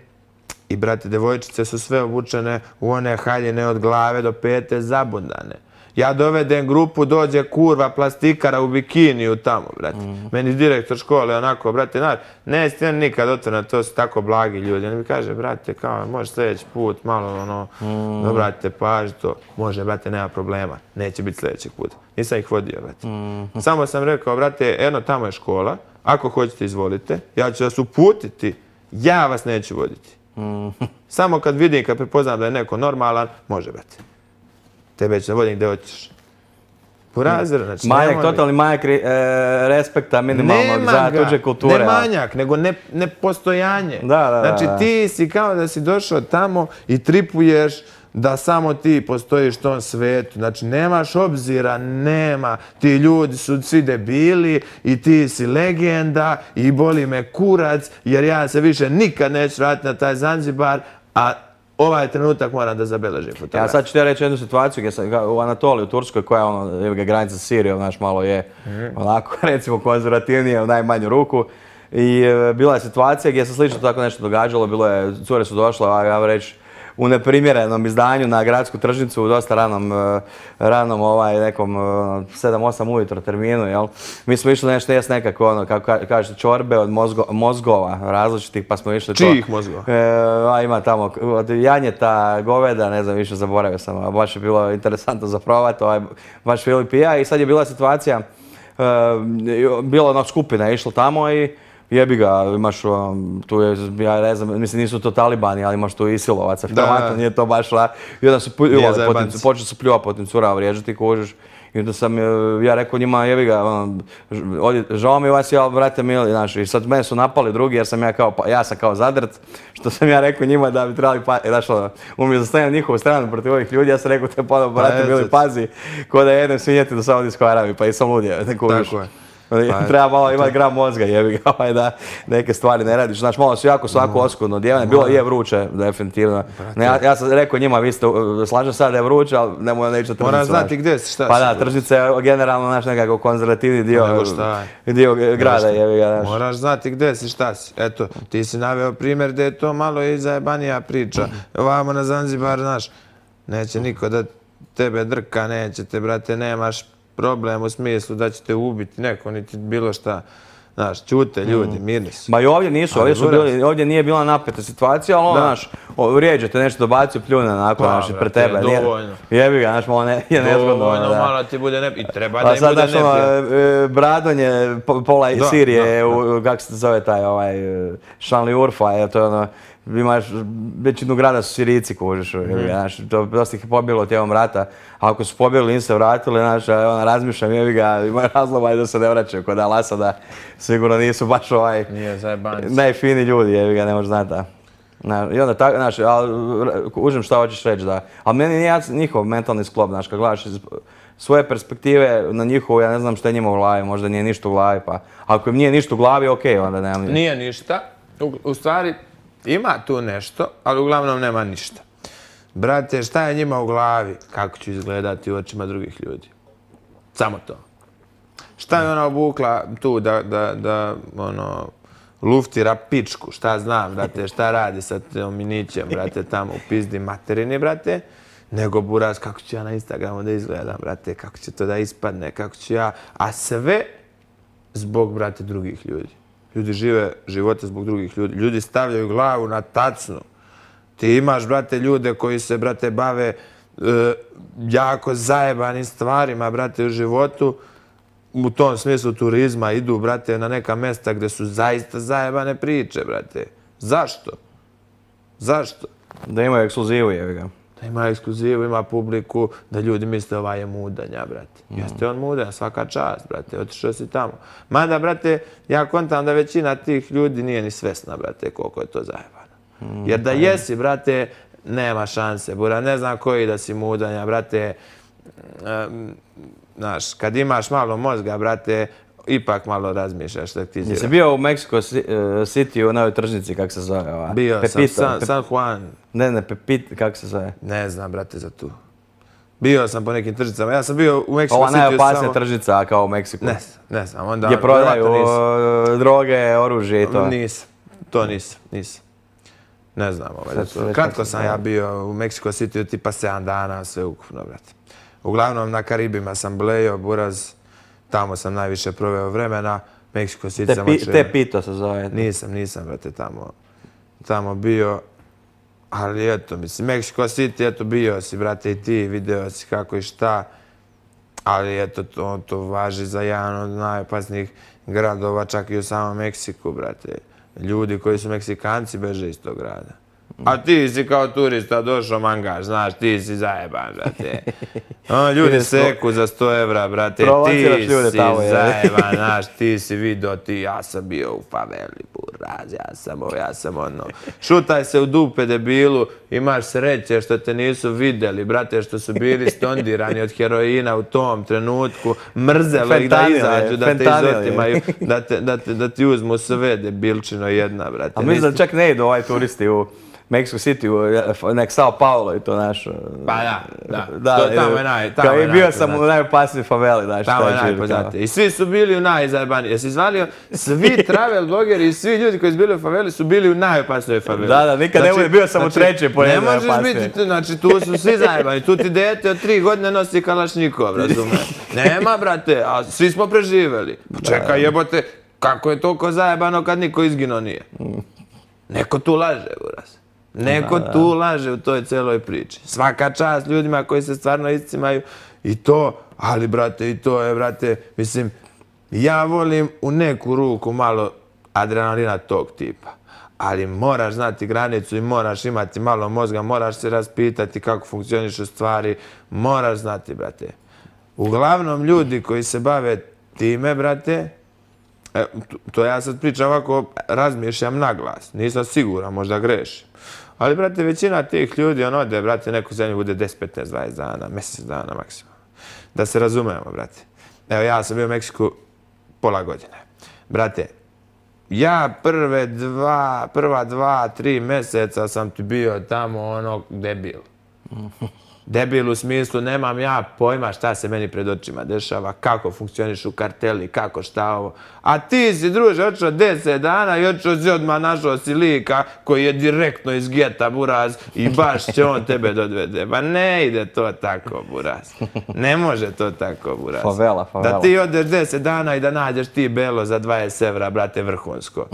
Speaker 2: i, brate, devojčice su sve obučene u one haljine od glave do pete zabundane. Ja dovedem grupu, dođe kurva plastikara u bikiniju tamo, brate. Meni direktor škole onako, brate, znaš, neće ti nikad otvoreno, to su tako blagi ljudi. On mi kaže, brate, kao, može sljedeći put, malo, brate, paži to. Može, brate, nema problema, neće biti sljedećeg puta. Nisam ih vodio, brate. Samo sam rekao, brate, eno, tamo je škola, ako hoćete, izvolite, ja ću vas uputiti, ja vas neću voditi. Samo kad vidim, kad prepoznam da je neko normalan, može, brate. Tebe ću da vodim gdje hoćeš. Burazer, znači...
Speaker 1: Totalni manjak respekta minimalnog za tuđe kulture.
Speaker 2: Ne manjak, nego nepostojanje. Znači ti si kao da si došao tamo i tripuješ da samo ti postojiš u tom svetu. Znači, nemaš obzira, nema. Ti ljudi su svi debili i ti si legenda i boli me kurac jer ja se više nikad neću vratiti na taj Zanzibar, a ovaj trenutak moram da zabeležim fotografiju.
Speaker 1: Ja sad ću ti reći jednu situaciju gdje sam u Anatoliji, u Turskoj, koja je granica s Sirijom, znaš, malo je onako, recimo, konzervativnije u najmanju ruku. I bila je situacija gdje se slično tako nešto događalo, cure su došle, ja reći, u neprimjerenom izdanju na gradsku tržnicu u dosta ranom nekom 7-8 ujutro terminu, jel? Mi smo išli nešto jest nekako, kako kažete, čorbe od mozgova različitih, pa smo išli to...
Speaker 2: Čijih mozgova?
Speaker 1: Ima tamo od janjeta, goveda, ne znam, više zaboravio sam, baš je bilo interesantno za provat, baš Filip i ja, i sad je bila situacija, bila ona skupina, je išla tamo i jebi ga, imaš tu je, ja ne znam, mislim nisu to talibani, ali imaš tu isilovaca, vjerovatno nije to baš i onda su počeli su pljuvati po tim curama, vrijeđati, kužiš. I onda sam ja rekao njima, jebi ga, žao mi vas, ja, brate mili, znaš, i sad mene su napali drugi jer sam ja sam kao zadrt, što sam ja rekao njima da bi trebali, znaš, umjesto da stavim njihovu stranu protiv ovih ljudi, ja sam rekao te brate mili, pazi, ko da jedem svinjeti do Saudijskoj Arabiji, pa i sam ludio, ne kužiš. Treba malo imati gram mozga, jebi ga, da neke stvari ne radiš. Znaš, malo su jako svako oskudno odjevene. Bilo je vruće, definitivno. Ja sam rekao njima, vi ste, slažem sad da je vruće, ali nemoj neći tržnicu.
Speaker 2: Moraš znati gdje si, šta si.
Speaker 1: Pa da, tržnica je generalno naš nekako konzervativni dio grada, jebi ga.
Speaker 2: Moraš znati gdje si, šta si. Eto, ti si naveo primjer gdje je to malo i zajebanija priča. Ovamo na Zanzibar, znaš, neće niko da tebe drka, neće te, brate, nemaš problem u smislu da će te ubiti neko, niti bilo šta. Znaš, ćute ljudi, mirni su.
Speaker 1: Ma i ovdje nisu,
Speaker 2: Ali
Speaker 1: ovdje nije bila napeta situacija, ali ono, znaš, vrijeđe te nešto dobacio, pljune onako,
Speaker 2: Pa,
Speaker 1: znaš, pred
Speaker 2: brate,
Speaker 1: tebe.
Speaker 2: dovoljno.
Speaker 1: Jebi ga, znaš, malo je nezgodno.
Speaker 2: Dovoljno,
Speaker 1: da.
Speaker 2: malo ti bude i treba da
Speaker 1: A
Speaker 2: im
Speaker 1: sad,
Speaker 2: bude
Speaker 1: znaš,
Speaker 2: neprijatno.
Speaker 1: Bradonje, pola Sirije,
Speaker 2: da.
Speaker 1: kako se zove taj, Šanli Urfa, to je ono, imaš, većinu grada su Sirijci, kužiš, znaš, to dosta ih je pobjelo tijekom rata, a ako su pobjegli, nisu se vratili, znaš, razmišljam, jebi ga, ima razloga da se ne vraćaju kod Al-Asada, sigurno nisu baš
Speaker 2: Nije zajebanci.
Speaker 1: najfini ljudi, jebi ga, ne možeš znati, da. I onda tako, znaš, užim šta hoćeš reći, da, ali meni nije njihov mentalni sklop, znaš, kad gledaš iz svoje perspektive na njihovu, ja ne znam šta je njima u glavi, možda nije ništa u glavi, pa ako im nije ništa u glavi, okej, onda nemam ništa.
Speaker 2: Nije ništa, u stvari ima tu nešto, ali uglavnom nema ništa. Brate, šta je njima u glavi? Kako ću izgledati u očima drugih ljudi? Samo to. Šta je ona obukla tu da luftira pičku, šta znam, brate, šta radi sa tom minićem, brate, tamo u pizdi materini, brate, nego buraz kako ću ja na Instagramu da izgledam, brate, kako će to da ispadne, kako ću ja, a sve zbog, brate, drugih ljudi. Ljudi žive živote zbog drugih ljudi. Ljudi stavljaju glavu na tacnu. Ti imaš, brate, ljude koji se, brate, bave jako zajebanim stvarima, brate, u životu. U tom smislu turizma idu, brate, na neka mesta gdje su zaista zajebane priče, brate. Zašto? Zašto?
Speaker 1: Da imaju ekskluzivu, jevi ga.
Speaker 2: Da ima ekskluzivu, ima publiku, da ljudi misle ovaj je mudanja, brate. Jeste on mudan, svaka čast, brate, otišao si tamo. Mada, brate, ja kontam da većina tih ljudi nije ni svesna, brate, koliko je to zajebano. Jer da jesi, brate, nema šanse, bura, ne znam koji da si mudanja, brate. Znaš, kad imaš malo mozga, brate, ipak malo razmišljaš šta ti zira.
Speaker 1: Jesi bio u Mexico City u novoj tržnici, kako se zove ova?
Speaker 2: Bio sam, San Juan.
Speaker 1: Ne, Pepito, kako se zove?
Speaker 2: Ne znam, brate, za tu. Bio sam po nekim tržnicama. Ja sam bio u Mexico City
Speaker 1: Ova najopasnija tržnica kao u Meksiku.
Speaker 2: Ne znam. Onda,
Speaker 1: gdje prodaju droge, oružje i to.
Speaker 2: Nisam. Ne znam. Kratko sam ja bio u Mexico City, tipa 7 dana, sve ukupno, brate. Uglavnom na Karibima sam blejo, buraz. Tamo sam najviše proveo vremena. Mexico City sam očeo.
Speaker 1: Tepito se zove.
Speaker 2: Nisam, brate, tamo bio. Ali eto, mislim, Mexico City, eto, bio si, brate, i ti, video si kako i šta. Ali eto, to važi za jedan od najopasnijih gradova, čak i u samom Meksiku, brate. Ljudi koji su Meksikanci beže iz tog grada. A ti si kao turista došao mangaš, znaš, ti si zajeban, brate. Ljudi seku za 100 evra, brate, ti si zajeban, znaš, ti si vidio, ja sam bio u faveli, buraz, ja sam ono. Šutaj se u dupe, debilu, imaš sreće što te nisu vidjeli, brate, što su bili stondirani od heroina u tom trenutku, mrzelo ih da izađu, da te izotimaju, da ti uzmu sve, debilčino jedna, brate.
Speaker 1: A mislim da čak ne idu turisti u Mexico City, nek Sao Paulo i to naš...
Speaker 2: Pa da. Tamo je najpoznatije.
Speaker 1: Bio sam u najopasnijoj faveli, znaš.
Speaker 2: Tamo je najpoznatije. I svi su bili u najzajebaniji. Jesi izvalio, svi travel blogeri i svi ljudi koji su bili u faveli su bili u najopasnijoj faveli.
Speaker 1: Da, nikad ne bude, bio sam u trećoj po
Speaker 2: ne možeš biti, znači tu su svi zajebani. Tu ti dete od 3 godine nosi kalašnikov, razumiješ? Nema, brate, a svi smo preživeli. Čekaj, jebote, kako je toliko zajebano kad niko izginuo nije? Neko tu laže, buraz. Neko tu laže u toj celoj priči. Svaka čast ljudima koji se stvarno iscimaju i to, ali brate, i to je, brate, mislim, ja volim u neku ruku malo adrenalina tog tipa. Ali moraš znati granicu i moraš imati malo mozga, moraš se raspitati kako funkcionišu stvari, moraš znati, brate. Uglavnom ljudi koji se bave time, brate, to ja sad pričam ovako, razmišljam na glas, nisam siguran, možda grešim. Ali, brate, većina tih ljudi, ode, brate, neku zemlju bude 10, 15, 20 dana, mjesec dana maksimalno. Da se razumemo, brate. Evo, ja sam bio u Meksiku pola godine. Brate, ja prva 2, 3 mjeseca sam ti bio tamo debil. Debil u smislu, nemam ja pojma šta se meni pred očima dešava, kako funkcionišu karteli, kako šta ovo. A ti si, druže, očeo 10 dana i očeo si odmah našao si lika koji je direktno iz geta, buraz, i baš će on tebe dodvede. Pa ne ide to tako, buraz. Ne može to tako, buraz.
Speaker 1: Favela.
Speaker 2: Da ti odeš 10 dana i da nađeš ti belo za 20 evra, brate, vrhunsko.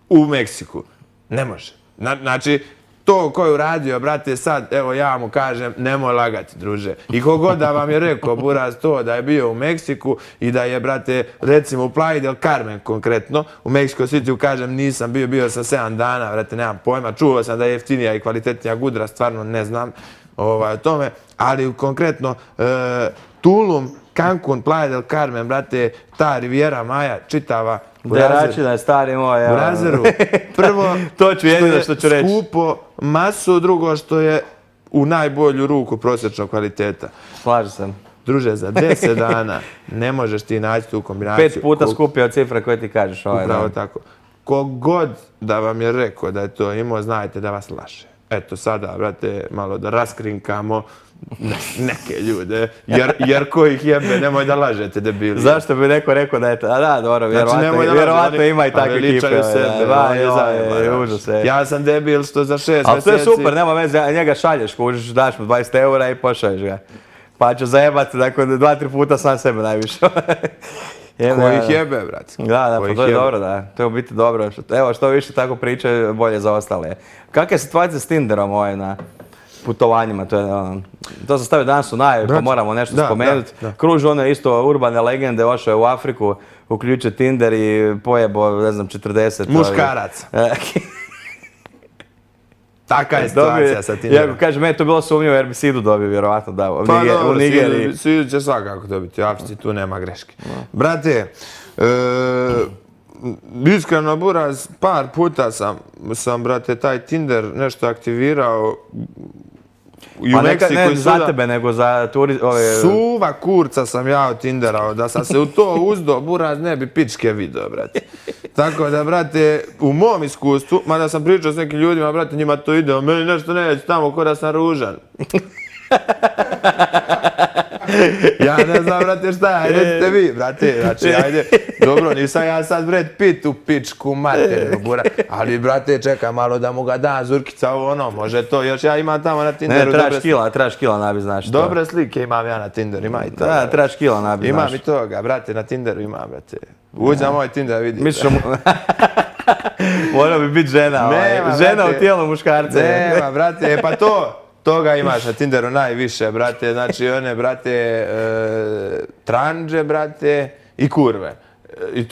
Speaker 2: U Meksiku. Ne može. Znači, to ko je uradio, brate, sad, evo ja mu kažem, nemoj lagati, druže. I kogod da vam je rekao, buraz, to da je bio u Meksiku i da je, brate, recimo u Playa del Carmen konkretno, u Mexico City, kažem, nisam bio sam 7 dana, brate, nemam pojma, čuo sam da je jeftinija i kvalitetnija gudra, stvarno ne znam o tome, ali konkretno Tulum, Cancun, Playa del Carmen, brate, ta Riviera Maya, čitava,
Speaker 1: Deračina je stari moj.
Speaker 2: U Razeru. Prvo,
Speaker 1: to ću jedino što ću reći.
Speaker 2: Skupo masu, drugo što je u najbolju ruku prosječnog kvaliteta.
Speaker 1: Slažem se.
Speaker 2: Druže, za 10 dana ne možeš ti naći tu kombinaciju.
Speaker 1: 5 puta skupije od cifre koje ti kažeš.
Speaker 2: Upravo tako. Kogod da vam je rekao da je to imao, znajte da vas laže. Eto sada, brate, malo da raskrinkamo neke ljude, jer ko ih jebe, nemoj da lažete, debili.
Speaker 1: Zašto bi neko rekao da je to? A da, dobro, vjerovatno ima i takve kipe.
Speaker 2: Ja sam debil što za 6 mjeseci...
Speaker 1: Ali to je super, nema veze, njega šalješ, kužiš, daš mu 20 eura i pošalješ ga. Pa ću zajebati, dakle, 2-3 puta sam sebe najviše.
Speaker 2: Ko ih jebe, brate.
Speaker 1: Da, pa to je dobro, da. To je u biti dobro. Evo, što više tako priče, bolje za ostale. Kakva je situacija s Tinderom na putovanjima? To sam stavio danas u najavi, pa moramo nešto spomenuti. Kružu one isto urbane legende, ošao je u Afriku, uključio Tinder i pojebo, ne znam, 40.
Speaker 2: Muškarac. Taka je situacija sa Tinderom.
Speaker 1: Ja kažem, meni je to bilo sumnjivo jer bi Sidu dobio, vjerovatno da.
Speaker 2: U Nigeriji. Sidu će svakako dobiti, u Africi tu nema greške. Brate, iskreno, buraz, par puta sam, brate, taj Tinder nešto aktivirao i u Meksiku
Speaker 1: ne za tebe, nego za
Speaker 2: Suva kurca sam ja od Tinderao, da sam se u to uzdo, buraz, ne bi pičke video, brate. Tako da, brate, u mom iskustvu, mada sam pričao s nekim ljudima, brate, njima to ide, meni nešto neće tamo ko da sam ružan. Ja ne znam, brate, šta je, recite vi, brate, znači, ajde, dobro, nisam ja sad Brad Pitt u pičku materinu, bura, ali, brate, čekaj malo da mu ga da zurkica, može to, još ja imam tamo na Tinderu
Speaker 1: Ne, trebaš kila, nabi, znaš to.
Speaker 2: Dobre slike imam ja na Tinderu, ima i to.
Speaker 1: Da, trebaš kila, nabi, znaš.
Speaker 2: Imam i toga, brate, na Tinderu imam, brate. Uđi na moj Tinder, vidi.
Speaker 1: Mora bi biti žena, žena u tijelu muškarca.
Speaker 2: Nema, brate, pa toga imaš na Tinderu najviše, brate, znači one, brate, tranđe, brate, i kurve. I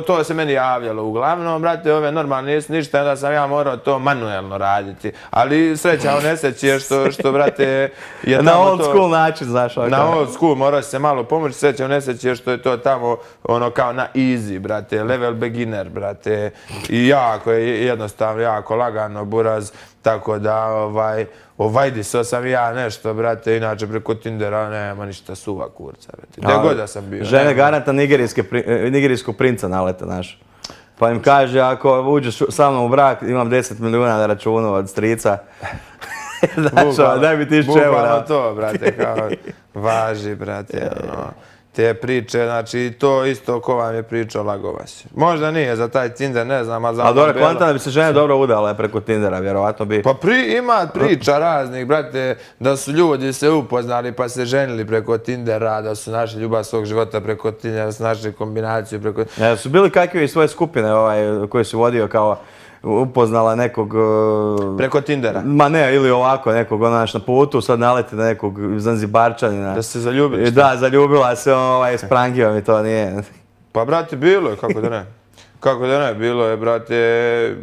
Speaker 2: to se meni javljalo uglavnom, brate, ove normalne nisu ništa, onda sam ja morao to manuelno raditi. Ali sreća u nesreći je što, brate, je tamo to...
Speaker 1: Na old school način, znaš.
Speaker 2: Na old school, morao se malo pomoći, sreća u nesreći je što je to tamo, kao na easy, brate, level beginner, brate. I jako je jednostavno, jako lagano, buraz, tako da, ovajdiso sam ja nešto, brate, inače preko Tindera nema ništa suva kurca, brate. Gdje god da sam bio.
Speaker 1: Žene garanta nigerijskog princa nalete, znaš. Pa im kaže, ako uđeš sa mnom u brak, imam 10 milijuna na računu od strica. Znaš, daj mi 1000 eura.
Speaker 2: Bukvalno to, brate, kao, važi, brate, te priče, znači to isto ko vam je pričao, lago vas. Možda nije za taj Tinder, ne znam, a za ono
Speaker 1: belo. Ali dobro, konta da bi se žene dobro udale preko Tindera, vjerovatno bi...
Speaker 2: Pa ima priča raznih, brate, da su ljudi se upoznali pa se ženili preko Tindera, da su našli ljubav svog života preko Tindera, da su našli kombinaciju preko...
Speaker 1: Su bili kakve i svoje skupine koje su vodio kao... upoznala nekog...
Speaker 2: Preko Tindera?
Speaker 1: Ma ne, ili ovako, nekog na putu, sad naleti na nekog Zanzibarčanina.
Speaker 2: Da se zaljubili?
Speaker 1: Da, zaljubila se, sprangio mi to, nije...
Speaker 2: Pa, brate, bilo je, kako da ne. Kako da ne, bilo je, brate,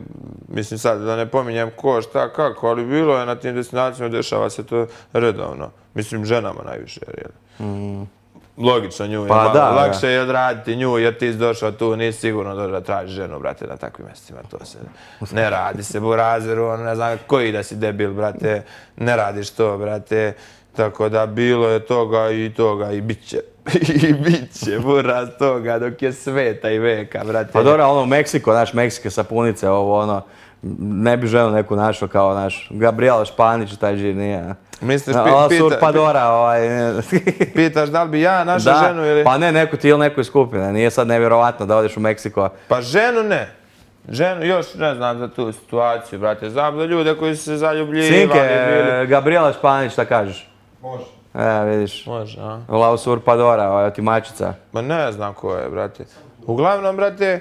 Speaker 2: mislim sad da ne pominjem ko, šta, kako, ali bilo je na tim destinacijama, dešava se to redovno. Mislim, ženama najviše, jer logično, nju je malo lakše je odraditi nju, jer ti si došao tu, nisi sigurno došao da tražiš ženu, brate, na takvim mjestima, to se ne radi se, burazeru, ne znam koji da si debil, brate, ne radiš to, brate, tako da bilo je toga i bit će. I bit će, buraz, toga, dok je sveta i veka, brate.
Speaker 1: Pa dobro, Meksiko, naš Meksike sapunice, ne bi želio neku našo kao naš Gabriela Španić, taj žir nije.
Speaker 2: Misliš,
Speaker 1: Usurpadora,
Speaker 2: pitaš da li bi ja naša
Speaker 1: Da,
Speaker 2: ženu ili...
Speaker 1: pa ne, neku ti ili nekoj skupine. Nije sad nevjerovatno da odeš u Meksiko.
Speaker 2: Pa ženu ne. Ženu, još ne znam za tu situaciju, brate. Znam za ljude koji su se zaljubljivali.
Speaker 1: Sinke, Gabriela Španić, šta kažeš?
Speaker 3: Može.
Speaker 1: Vidiš.
Speaker 2: Može, a?
Speaker 1: La Usurpadora, otimačica.
Speaker 2: Ma ne znam ko je, brate. Uglavnom, brate,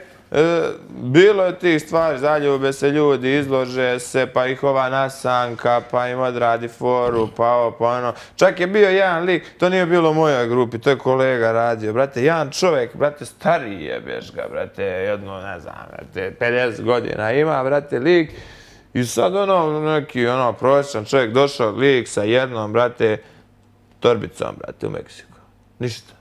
Speaker 2: bilo je tih stvari, zaljube se ljudi, izlože se, pa ih ova nasanka, pa im odradi foru, pa ovo, pa ono. Čak je bio jedan lik, to nije bilo u mojoj grupi, to je kolega radio, brate, jedan čovjek, brate, stariji je beš ga, brate, jedno, ne znam, brate, 50 godina ima, brate, lik. I sad ono, neki, ono, prosječan čovjek došao, lik sa jednom, brate, torbicom, brate, u Meksiku. Ništa.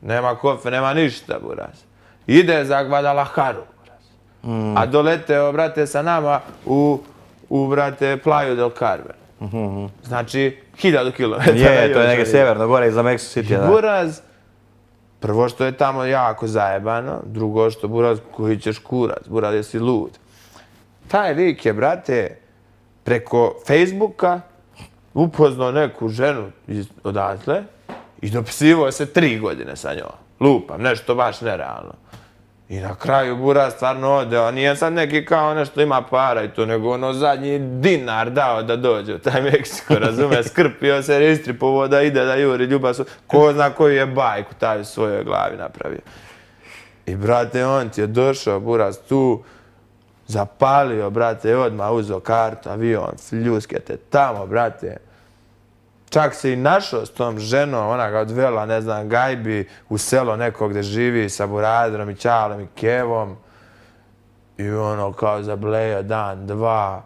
Speaker 2: Nema kofe, nema ništa, buraz. Ide za Guadalajaru, a doleteo, brate, sa nama brate, Playa del Carmen. Znači, 1000 kilometara.
Speaker 1: Je, to je neke sjeverno, gore iza Mexico City, da.
Speaker 2: Buraz, prvo što je tamo jako zajebano, drugo što, buraz, koji ćeš kurac, buraz, jesi lud. Taj lik je, brate, preko Facebooka upoznao neku ženu odatle i dopisivao se 3 godine sa njom. Lupam, nešto baš nerealno. I na kraju buraz stvarno odeo, nije sad neki kao nešto ima para i to, nego ono zadnji dinar dao da dođe u taj Meksiko, razume, skrpio se, istripovo da ide da juri ljubav, ko zna koju je bajku taj u svojoj glavi napravio. I brate, on ti je došao, buraz, tu, zapalio, brate, odmah uzeo kartu, avion, fljuskete, tamo, brate. Čak se i našao s tom ženom, ona ga odvela, ne znam, gajbi u selo neko gde živi sa burazom i Ćalom i Kevom. I ono kao zablejo dan, 2,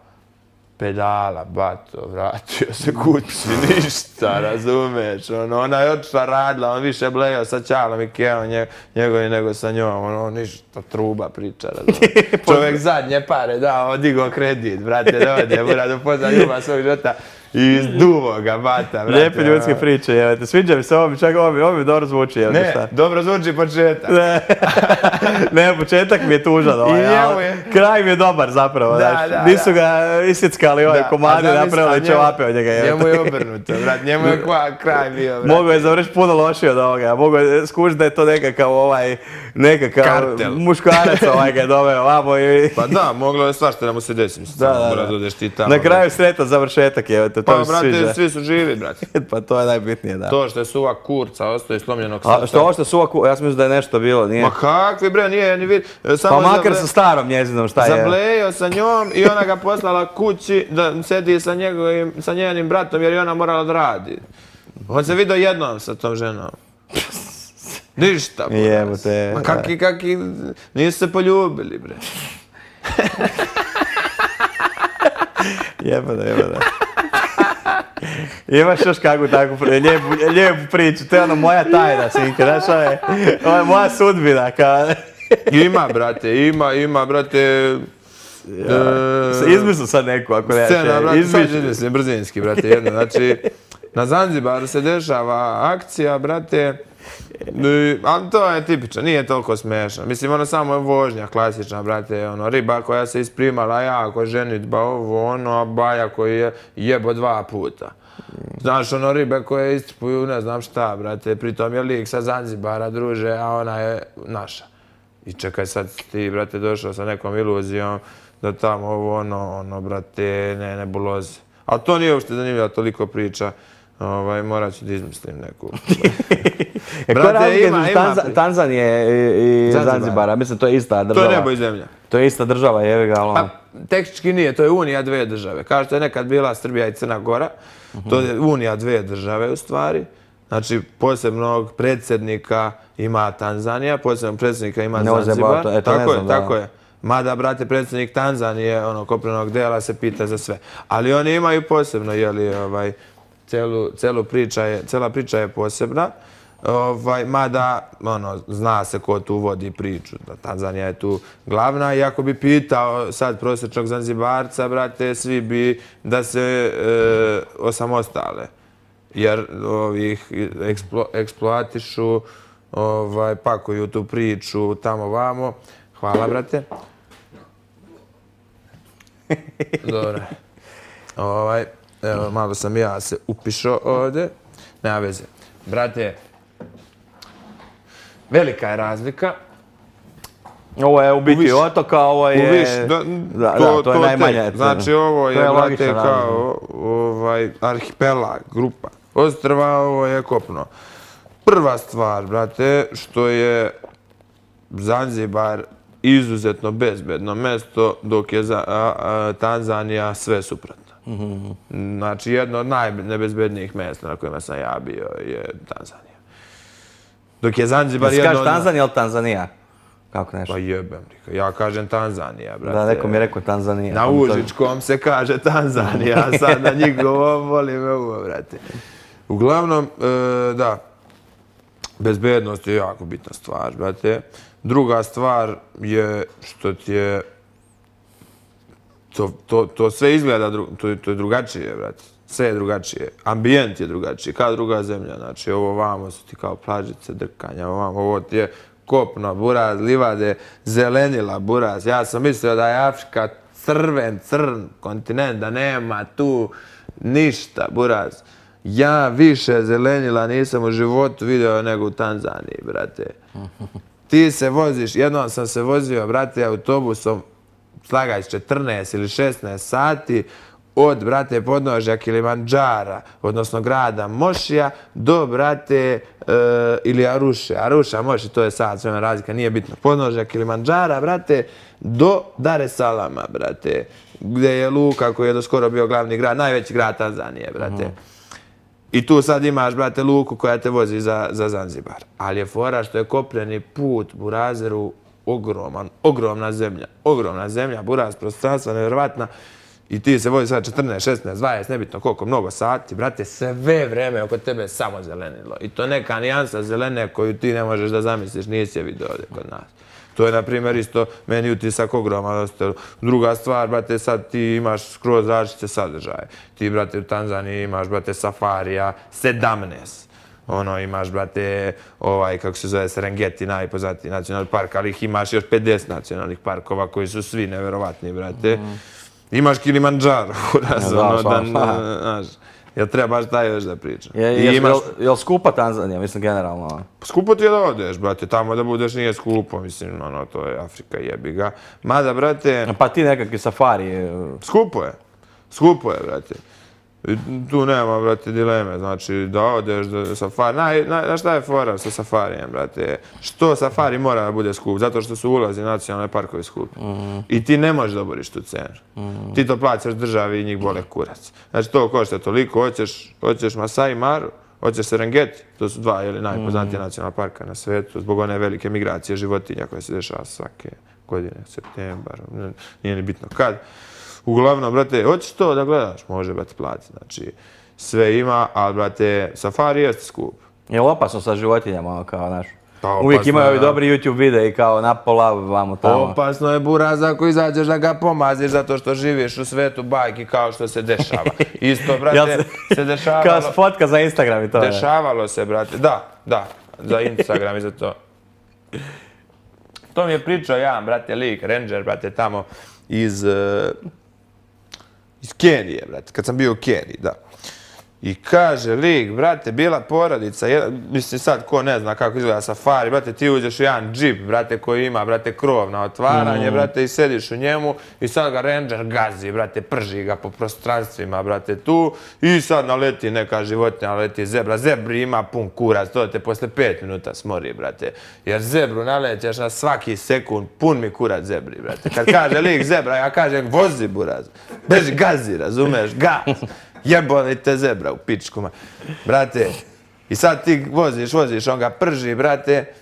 Speaker 2: pedala, bato, vratio se kući, ništa, razumeš. Ona je otišla radila, on više blejao sa Ćalom i Kevom njegovi nego sa njom, ono ništa, truba priča, razumeš. Čovjek zadnje pare dao, digao kredit, brate, da ode, buraz upozna ljubav svog života. I izduvo ga, bata, brate.
Speaker 1: Lijepe ljudske priče, jevete. Sviđa mi se ovo, čak ovo mi dobro zvuči, jevete šta.
Speaker 2: Ne, dobro zvuči početak.
Speaker 1: Ne, početak mi je tužan, ali kraj mi je dobar zapravo, znaš. Nisu ga isjeckali ovaj komadi, napravili ćevape od njega, jevete.
Speaker 2: Njemu je obrnuto, brat, njemu je kraj bio, brat.
Speaker 1: Mogu je završiti puno lošije od ovoga, mogu je skušiti da je to nekakav muškarac ga je doveo ovamo i...
Speaker 2: Pa da, moglo je svašta da mu se desi,
Speaker 1: na kraju sretan završetak, jevete.
Speaker 2: Pa, brate, svi su živi, brate.
Speaker 1: Pa to je najbitnije, da.
Speaker 2: To što je suva kurca, ostaje slomljenog srca.
Speaker 1: A što ovo što je suva kurca, ja sam mislio da je nešto bilo, nije?
Speaker 2: Ma kakvi, bre, nije ni vid.
Speaker 1: Pa makar sa starom njezinom, šta je?
Speaker 2: Zablejao sa njom i ona ga poslala kući da sedi sa njenim bratom jer je ona morala da radi. On se vidio jednom sa tom ženom. Ništa,
Speaker 1: jebote.
Speaker 2: Ma kaki, nisu se poljubili, bre.
Speaker 1: Jebote. Imaš još kakvu takvu lijepu priču, to je ono moja tajna, Sinke, znaš, ovo je moja sudbina.
Speaker 2: Ima, brate, ima, brate.
Speaker 1: Izmislim sad neku, ako ne.
Speaker 2: Scena, brate, sad izmislim, brzinski, brate, jedno. Znači, na Zanzibaru se dešava akcija, brate, ali to je tipično, nije toliko smiješno. Mislim, ono samo je vožnja klasična, brate, ono, riba koja se isprimala jako, ženitba, ovo, ono, a baja koji je jebo 2 puta. Znaš, ono, ribe koje istripuju, ne znam šta, brate, pritom je lik sa Zanzibara, druže, a ona je naša. I čekaj, sad ti, brate, došao sa nekom iluzijom da tamo ovo, ono, brate, nebuloze. A to nije uopšte zanimljiva toliko priča. Morat ću da izmislim neku.
Speaker 1: Koja razlika između Tanzanije i Zanzibara? Mislim, to je ista država.
Speaker 2: To je nebo i zemlja.
Speaker 1: To je ista država, jevi ga, ali...
Speaker 2: Pa, tehnički nije, to je unija 2 države. Kao što je nekad bila Srbija i Crna Gora, to je unija 2 države u stvari. Znači, posebnog predsjednika ima Tanzanija, posebnog predsjednika ima Zanzibar. Tako je. Mada, brate, predsjednik Tanzanije, kopnenog dela, se pita za sve. Ali oni imaju posebno, jeli, cela priča je posebna, mada zna se ko tu vodi priču, da Tanzanija je tu glavna i ako bi pitao sad prosječnog Zanzibarca, brate, svi bi da se osamostale, jer ovih eksploatišu, pakuju tu priču tamo vamo. Hvala, brate. Dobro. Evo, malo sam ja se upišao ovdje. Nema veze. Brate, velika je razlika.
Speaker 1: Ovo je u biti otoka, ovo je... to je najmanje.
Speaker 2: Znači ovo je, brate, kao arhipelag, grupa ostrva, ovo je kopno. Prva stvar, brate, što je Zanzibar izuzetno bezbedno mesto, dok je Tanzanija sve suprotno. Znači, jedno od najnebezbednijih mjesta na kojima sam ja bio je Tanzanija. Dok je Zanzibar jedno od...
Speaker 1: Kažeš Tanzanija ili Tanzanija? Kako nešto?
Speaker 2: Pa jebem, ja kažem Tanzanija, brate.
Speaker 1: Da, neko mi je rekao Tanzanija.
Speaker 2: Na Užičkom se kaže Tanzanija, a sad na njihovom voli me uvo, brate. Uglavnom, da, bezbednost je jako bitna stvar, brate. Druga stvar je što ti je... To sve izgleda, to je drugačije, brate. Sve je drugačije. Ambijent je drugačiji, kao druga zemlja. Znači, ovo vamo su ti kao plažice, drkanja, ovo ti je kopno, buraz, livade, zelenila, buraz. Ja sam mislio da je Afrika crn kontinent, da nema tu ništa, buraz. Ja više zelenila nisam u životu vidio nego u Tanzaniji, brate. Ti se voziš, jednom sam se vozio, brate, autobusom, slagaj 14 ili 16 sati, od, brate, podnožja Kilimandžara, odnosno grada Mošija, do, brate, ili Aruša, Moši, to je sad sve razlika, nije bitno, podnožja Kilimandžara, brate, do Dar es Salama, brate, gdje je luka koji je do skoro bio glavni grad, najveći grad Tanzanije, brate. I tu sad imaš, brate, luku koja te vozi za Zanzibar. Ali je fora što je kopneni put Burazeru ogromna zemlja, buraz, prostranstva, nevjerovatna. I ti se vozi sad 14, 16, 20, nebitno koliko, mnogo sati, brate, sve vreme oko tebe samo zelenilo. I to neka nijansa zelene koju ti ne možeš da zamisliš, nisi je vidio ovdje kod nas. To je, na primjer, isto meni utisak ogroman. Druga stvar, brate, sad ti imaš skroz različite sadržaje. Ti, brate, u Tanzaniji imaš, brate, safarija, 17. Imaš, brate, kako se zove, Serengeti, najpoznatiji nacionalni park, ali ih imaš još 50 nacionalnih parkova koji su svi neverovatni, brate. Imaš Kilimandžaro, znaš. Jel treba baš taj još da pričam?
Speaker 1: Jel skupa Tanzanija, mislim, generalno?
Speaker 2: Skupo ti je da odeš, brate, tamo da budeš nije skupo, mislim, to je Afrika, jebi ga. Mada, brate...
Speaker 1: Pa ti nekakvi safari...
Speaker 2: Skupo je, brate. Tu nema, brate, dileme, znači da odeš do safari. Znaš šta je fora sa safarijem, brate? Što safari mora da bude skup? Zato što su ulazi nacionalne parkovi skupi. I ti ne možeš da oboriš tu cenu. Ti to plaćaš državi i njih bole kurac. Znači to košta toliko, hoćeš Masai Maru, hoćeš Serengeti, to su dva najpoznatije nacionalna parka na svetu, zbog one velike migracije životinja koje se dešava svake godine, septembar, nije ni bitno kad. Uglavnom, brate, hoćeš to da gledaš? Može, brate, platiti. Znači, sve ima, ali, brate, safari jeste skup.
Speaker 1: Je li opasno sa životinjama, kao, znaš? Uvijek imaju ovi dobri YouTube videi, kao napola, vamo tamo.
Speaker 2: Opasno je, buraz, ako izađeš da ga pomaziš zato što živiš u svetu bajki kao što se dešava. Isto, brate, se dešavalo...
Speaker 1: Kao fotka za Instagram i to.
Speaker 2: Dešavalo se, brate, da, za Instagram i za to. To mi je pričao jedan, brate, lik, ranger, brate, tamo iz Kenije, brate, kad sam bio u Keniji, da. I kaže lik, brate, bila porodica, mislim sad ko ne zna kako izgleda safari, brate, ti uđeš u jedan džip, brate, koji ima, brate, krov na otvaranje, brate, i sediš u njemu i sad ga ranger gazi, brate, prži ga po prostranstvima, brate, tu i sad naleti neka životinja, naleti zebra, zebri ima pun kurac, to te posle 5 minuta smori, brate, jer zebru nalećeš na svaki sekund, pun mi kurac zebri, brate, kad kaže lik zebra, ja kažem vozi buraz, beži gazi, razumeš, gaz. Jebali te zebra u pičkuma. Brate, i sad ti voziš, on ga prži, brate,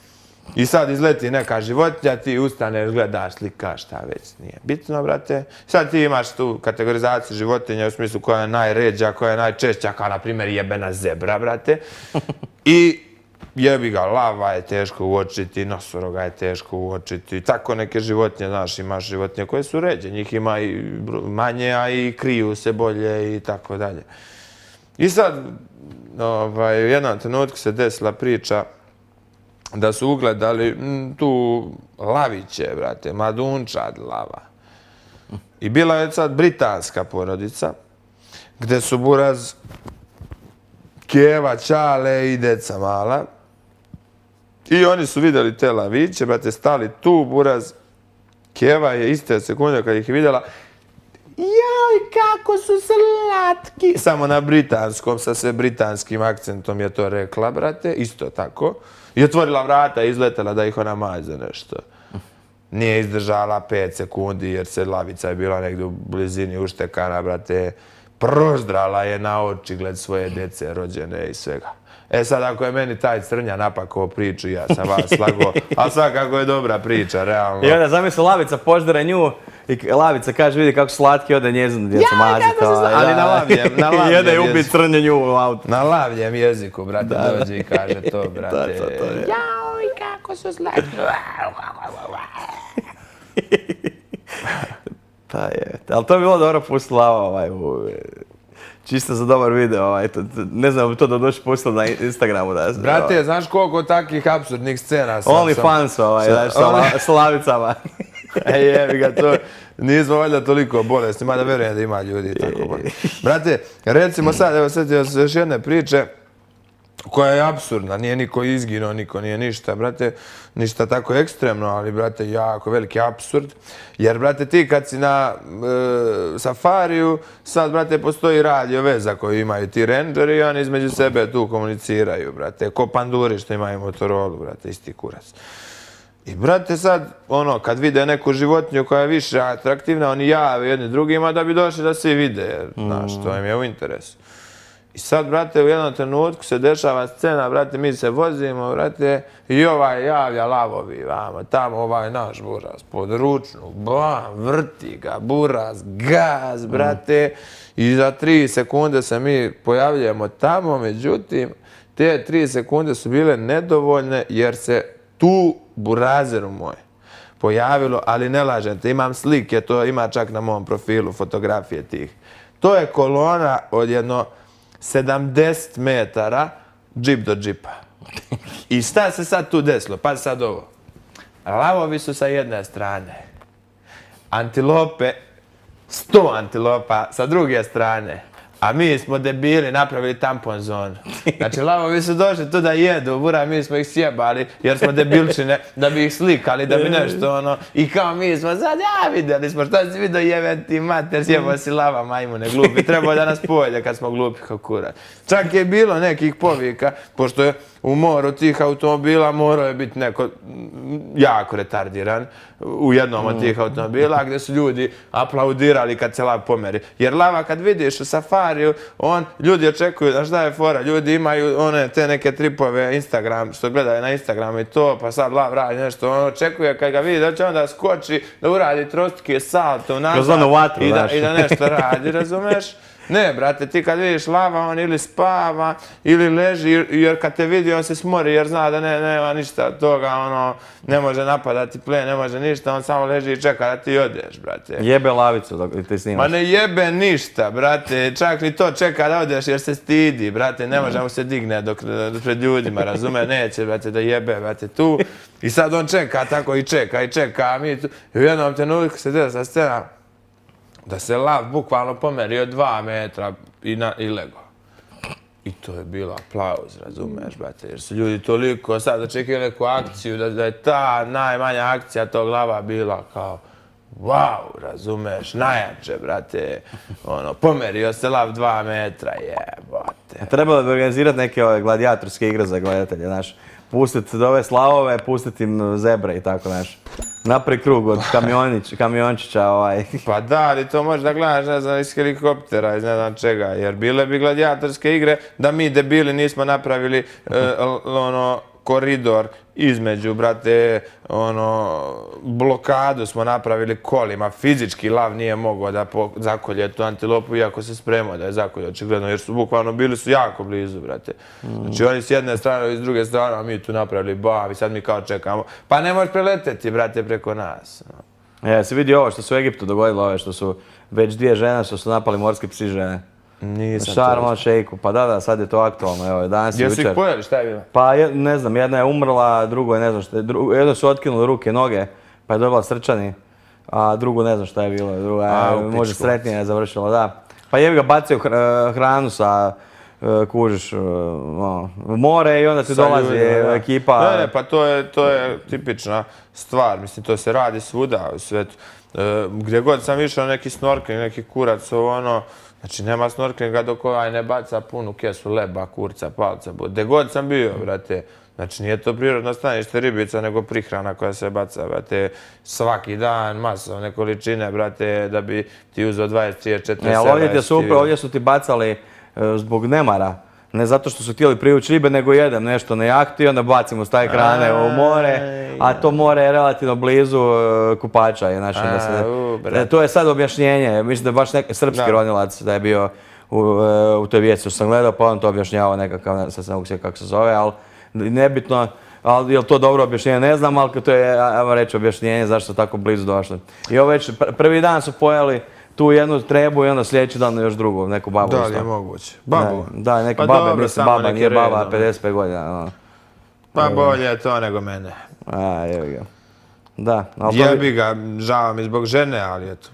Speaker 2: i sad izleti neka životinja, ti ustaneš, gledaš, slikaš, šta već nije bitno, brate. Sad ti imaš tu kategorizaciju životinja u smislu koja je najređa, koja je najčešća, kao na primjer jebena zebra, brate. I jebi ga, lava je teško uočiti, nosoroga je teško uočiti, tako neke životinje, znaš, imaš životinje koje su ređe, njih ima i manje, a i kriju se bolje i tako dalje. I sad, u jednom trenutku se desila priča da su ugledali tu laviće, brate, mladunčad lava. I bila je sad britanska porodica gde su buraz Keva, Ćale i deca mala. I oni su vidjeli te laviće, brate, stali tu, buraz. Keva je iste sekunde kad ih je vidjela, joj, kako su slatki! Samo na britanskom, sa sve britanskim akcentom je to rekla, brate, isto tako. I otvorila vrata i izletela da ih ona maže nešto. Nije izdržala 5 sekundi jer se lavica je bila negdje u blizini uštekana, brate. Proždrala je na očigled svoje djece rođene i svega. E sad, ako je meni taj crnja napakao priču, ja sam vas slago, ali svakako je dobra priča, realno.
Speaker 1: I onda zamisli lavica poždere nju i lavica kaže vidi kako slatki ode njezinu djecu maziti.
Speaker 2: Ali na lavljem
Speaker 1: jeziku. Jede i ubi crnje nju u autu.
Speaker 2: Na lavljem jeziku, brate, dođe i kaže to, brate. Jao, i kako su slatki.
Speaker 1: Pa je, ali to je bilo dobro pustiti Lava čisto za dobar video, ne znam to da doći pustiti na Instagramu.
Speaker 2: Brate, znaš koliko takvih apsurdnih scena sam...
Speaker 1: OnlyFans, sa lavicama.
Speaker 2: Jebi ga, to nismo valjda toliko bolesni, mada verujem da ima ljudi tako bolesni. Brate, recimo sad, evo sjetio se još jedne priče koja je apsurdna, nije niko izginuo, niko nije ništa, brate, ništa tako ekstremno, ali, brate, jako veliki apsurd. Jer, brate, ti kad si na safariju, sad, brate, postoji radio veza koju imaju ti rangeri i oni između sebe tu komuniciraju, brate, ko panduri što imaju Motorolu, brate, isti kurac. I, brate, sad, kad vide neku životinju koja je više atraktivna, oni jave jedni drugima da bi došli da svi vide, jer, znaš, to im je u interesu. I sad, brate, u jednom trenutku se dešava scena, brate, mi se vozimo, brate, i ovaj javlja lavovi, vamo, tamo ovaj naš buraz, pod ručnu, bam, vrti ga, buraz, gaz, brate, i za 3 sekunde se mi pojavljujemo tamo, međutim, te 3 sekunde su bile nedovoljne, jer se tu burazeru moj pojavilo, ali ne lažete, imam slike, to ima čak na mom profilu, fotografije tih. To je kolona od jedno 70 metara, džip do džipa. I šta se sad tu desilo? Pa sad ovo. Lavovi su sa jedne strane. Antilope, 100 antilopa sa druge strane. A mi smo debili napravili tampon zonu. Znači, lavovi su došli tu da jedu, bura, mi smo ih sjebali jer smo debilčine, da bi ih slikali, da bi nešto I kao mi smo sad, vidjeli smo, šta si vidio jeben ti mater, sjebao si lava, majmune, glupi. Trebao da nas pojede kad smo glupi kao kurac. Čak je bilo nekih povika, pošto je u moru tih automobila morao je biti neko jako retardiran u jednom od tih automobila gdje su ljudi aplaudirali kad se lav pomeri. Jer lava kad vidiš u safariju, ljudi očekuju, znaš šta je fora, ljudi imaju te neke tripove Instagram, što gledaju na Instagramu i to, pa sad lav radi nešto, očekuje kad ga vidi da će onda skoči, da uradi trostke salto nazad i da nešto radi, razumeš? Ne, brate, ti kad vidiš lava, on ili spava, ili leži, jer kad te vidi, on se smori, jer zna da nema ništa od toga, ne može napadati plen, ne može ništa, on samo leži i čeka da ti odeš, brate.
Speaker 1: Jebe lavicu dok ti snimaš.
Speaker 2: Ma ne jebe ništa, brate, čak ni to čeka da odeš jer se stidi, brate, ne može mu se digne pred ljudima, razume, neće, brate, da jebe, brate, tu. I sad on čeka tako i čeka, a mi tu. I u jednom trenutku se desa scena da se lav bukvalno pomerio 2 metra i lego. I to je bilo aplauz, razumeš, brate, jer su ljudi toliko sad očekivali neku akciju, da je ta najmanja akcija tog lava bila kao wow, razumeš, najjače, brate, pomerio se lav 2 metra, jebote.
Speaker 1: Trebalo bi organizirati neke gladijatorske igre za gledatelje, znaš, pustiti ove slavove, pustiti im zebre i tako, znaš. Naprijed krug od kamiončića.
Speaker 2: Pa da, ali to možeš da gledaš, ne znam, iz helikoptera, iz ne znam čega, jer bile bi gladijatorske igre da mi debili nismo napravili koridor između, brate, blokadu smo napravili kolima, fizički lav nije mogao da zakolje tu antilopu, iako se spremao da je zakolje, očigledno, jer su bukvalno bili su jako blizu, brate. Znači oni s jedne strane i s druge strane, a mi tu napravili bam i sad mi kao čekamo. Pa ne možeš preleteti, brate, preko nas.
Speaker 1: Si vidio ovo što se u Egiptu dogodilo, ove što su već 2 žene što su napali morski psi žene.
Speaker 2: Nisam
Speaker 1: Sharm el Sheikhu, pa da, sad je to aktualno, evo, danas i jučer.
Speaker 2: Jesu ih pojeli, šta je bilo?
Speaker 1: Pa ne znam, jedna je umrla, drugo je ne znam šta je, jedno su otkinuli ruke, noge, pa je dobila srčani, a drugo ne znam šta je bilo, druga je možda sretnije završila, da. Pa jebi ga bacaju hranu sa, kužiš, u more i onda ti dolazi ekipa.
Speaker 2: Ne, pa to je tipična stvar, mislim, to se radi svuda u svetu. Gdje god sam išao neki snorkeling, neki kurac, ono, znači nema snorkelinga dok ovaj ne baca punu kesu leba, kurca, palca, gdje god sam bio, brate. Znači nije to prirodno stanište ribica, nego prihrana koja se baca, brate, svaki dan, masovne količine, brate, da bi ti uzeo 20, 30, 40
Speaker 1: ali ovdje su ti bacali zbog nemara. Ne zato što su htjeli privući ribe, nego jedem nešto na jahti i onda bacimo s taj ekrane u more, a to more je relativno blizu kupača. To je sad objašnjenje, mislim da je baš neki srpski ronilac da je bio u toj vijesti što sam gledao, pa on to objašnjavao nekakav, sad se ne mogu sjetiti kako se zove, ali nebitno, ali je li to dobro objašnjenje, ne znam, ali to je, ajmo reći, objašnjenje zašto su tako blizu došli. I ovo već prvi dan su pojeli tu jednu trebu i onda sljedeći dan još drugu, neku babu.
Speaker 2: Da li je moguće? Babu?
Speaker 1: Da, neke babe, mislim baba, nije baba, 55 godina.
Speaker 2: Pa bolje je to nego mene.
Speaker 1: Jebi ga. Da.
Speaker 2: Jebi ga, žao mi zbog žene, ali eto,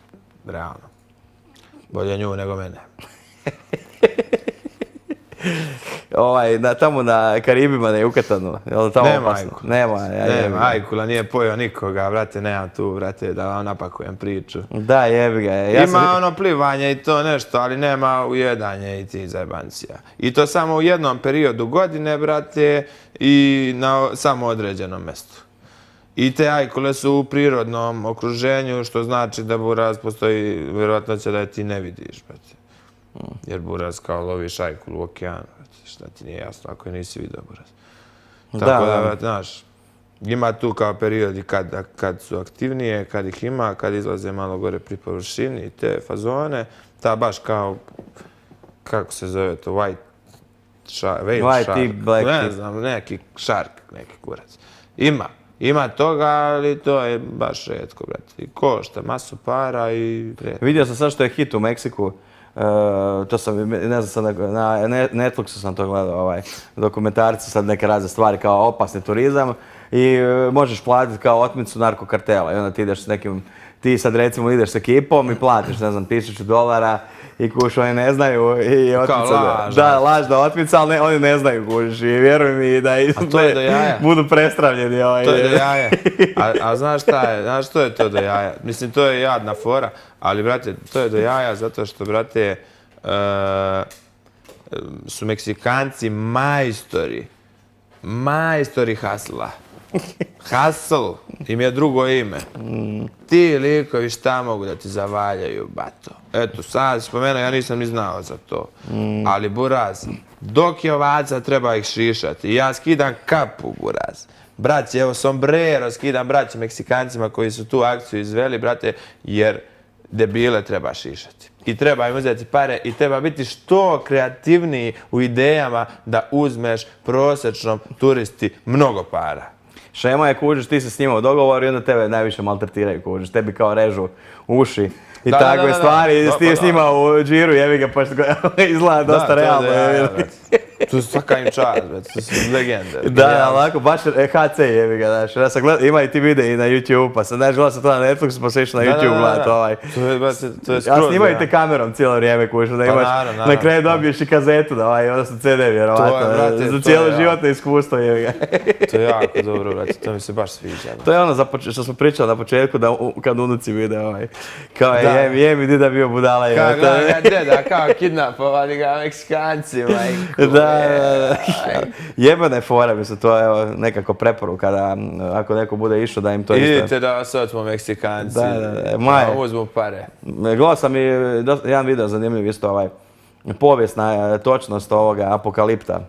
Speaker 2: realno. Bolje nju nego mene.
Speaker 1: Tamo na Karibima, na Jukatanu, je li tamo opasno?
Speaker 2: Nema Ajkula, nije pojeo nikoga, brate, nemam tu, brate, da vam napakujem priču.
Speaker 1: Da, jebi ga.
Speaker 2: Ima ono plivanje i to nešto, ali nema ujedanje i ti zajebancija. I to samo u jednom periodu godine, brate, i na samo određenom mjestu. I te ajkule su u prirodnom okruženju, što znači da buraz postoji, vjerojatno će da je ti ne vidiš, brate. Jer buraz kao loviš ajkulu u okeanu, šta ti nije jasno ako je nisi vidio buraz. Tako da, znaš, ima tu kao periodi kad su aktivnije, kad ih ima, kad izlaze malo gore pri površini, te fazone, ta baš kao, kako se zove to, white shark, ne znam, neki shark, neki kurac. Ima toga, ali to je baš retko, brate. I košta masu para i...
Speaker 1: Vidio sam sad što je hit u Meksiku. To sam, ne znam, na Netflixu sam to gledao, dokumentarci, sad neke razne stvari kao opasni turizam i možeš platiti kao otmicu narkokartela i onda ti ideš s nekim, ti sad recimo ideš s ekipom i platiš, ne znam, $1000 i kuš, oni ne znaju i otmica, da, lažna otmica, ali oni ne znaju kuš i vjeruj mi da budu prestravljeni.
Speaker 2: To je do jaja, a znaš šta je, znaš što je to do jaja? Mislim, to je jadna fora, ali brate, to je do jaja zato što, brate, su Meksikanci majstori hasla. Hustle im je drugo ime. Ti likovi šta mogu da ti zavaljaju, bato? Eto, sad spomenuo, ja nisam ni znao za to. Ali buraz, dok je ovaca treba ih šišati. Ja skidam kapu, buraz. Braći, evo sombrero skidam braći Meksikancima koji su tu akciju izveli, brate, jer debile treba šišati. I treba im uzeti pare i treba biti što kreativniji u idejama da uzmeš prosječnom turisti mnogo para.
Speaker 1: Šema je, kužiš, ti se s njima u dogovoru i onda tebe najviše maltretiraju, kužiš, tebi kao režu uši i takve stvari, ti s njima u džiru, jebi ga, pošto izgleda dosta realno.
Speaker 2: Tu svaka im čast, tu su legende.
Speaker 1: Da, ovako, baš HC jebi ga, znaš, ja sam gledao, ima i ti videi na YouTube, pa sam, znaš, gledao sam to na Netflixu, pa sam išao na YouTube gledat ovaj.
Speaker 2: To je skroz,
Speaker 1: ja snimaju te kamerom cijelo vrijeme, kužiš, da imaš, na kraju dobiješ i kazetu, da odnosno CD, vjerovatno, za cijelo životno iskustvo, jebi ga.
Speaker 2: To je jako dobro, brate, to mi se baš sviđa.
Speaker 1: To je ono što smo pričali na početku, kad unuci vide kao je mi dida bio budala.
Speaker 2: Deda, kao kidnapovali ga Meksikanci, majku.
Speaker 1: Da. Jebana je fora, mislim, to je nekako preporuka da ako neko bude išao da im to isto...
Speaker 2: Idite da vas otmo Meksikanci, da uzmu pare.
Speaker 1: Gledao sam i jedan video zanimljiv isto povijesna točnost ovoga Apokalipta.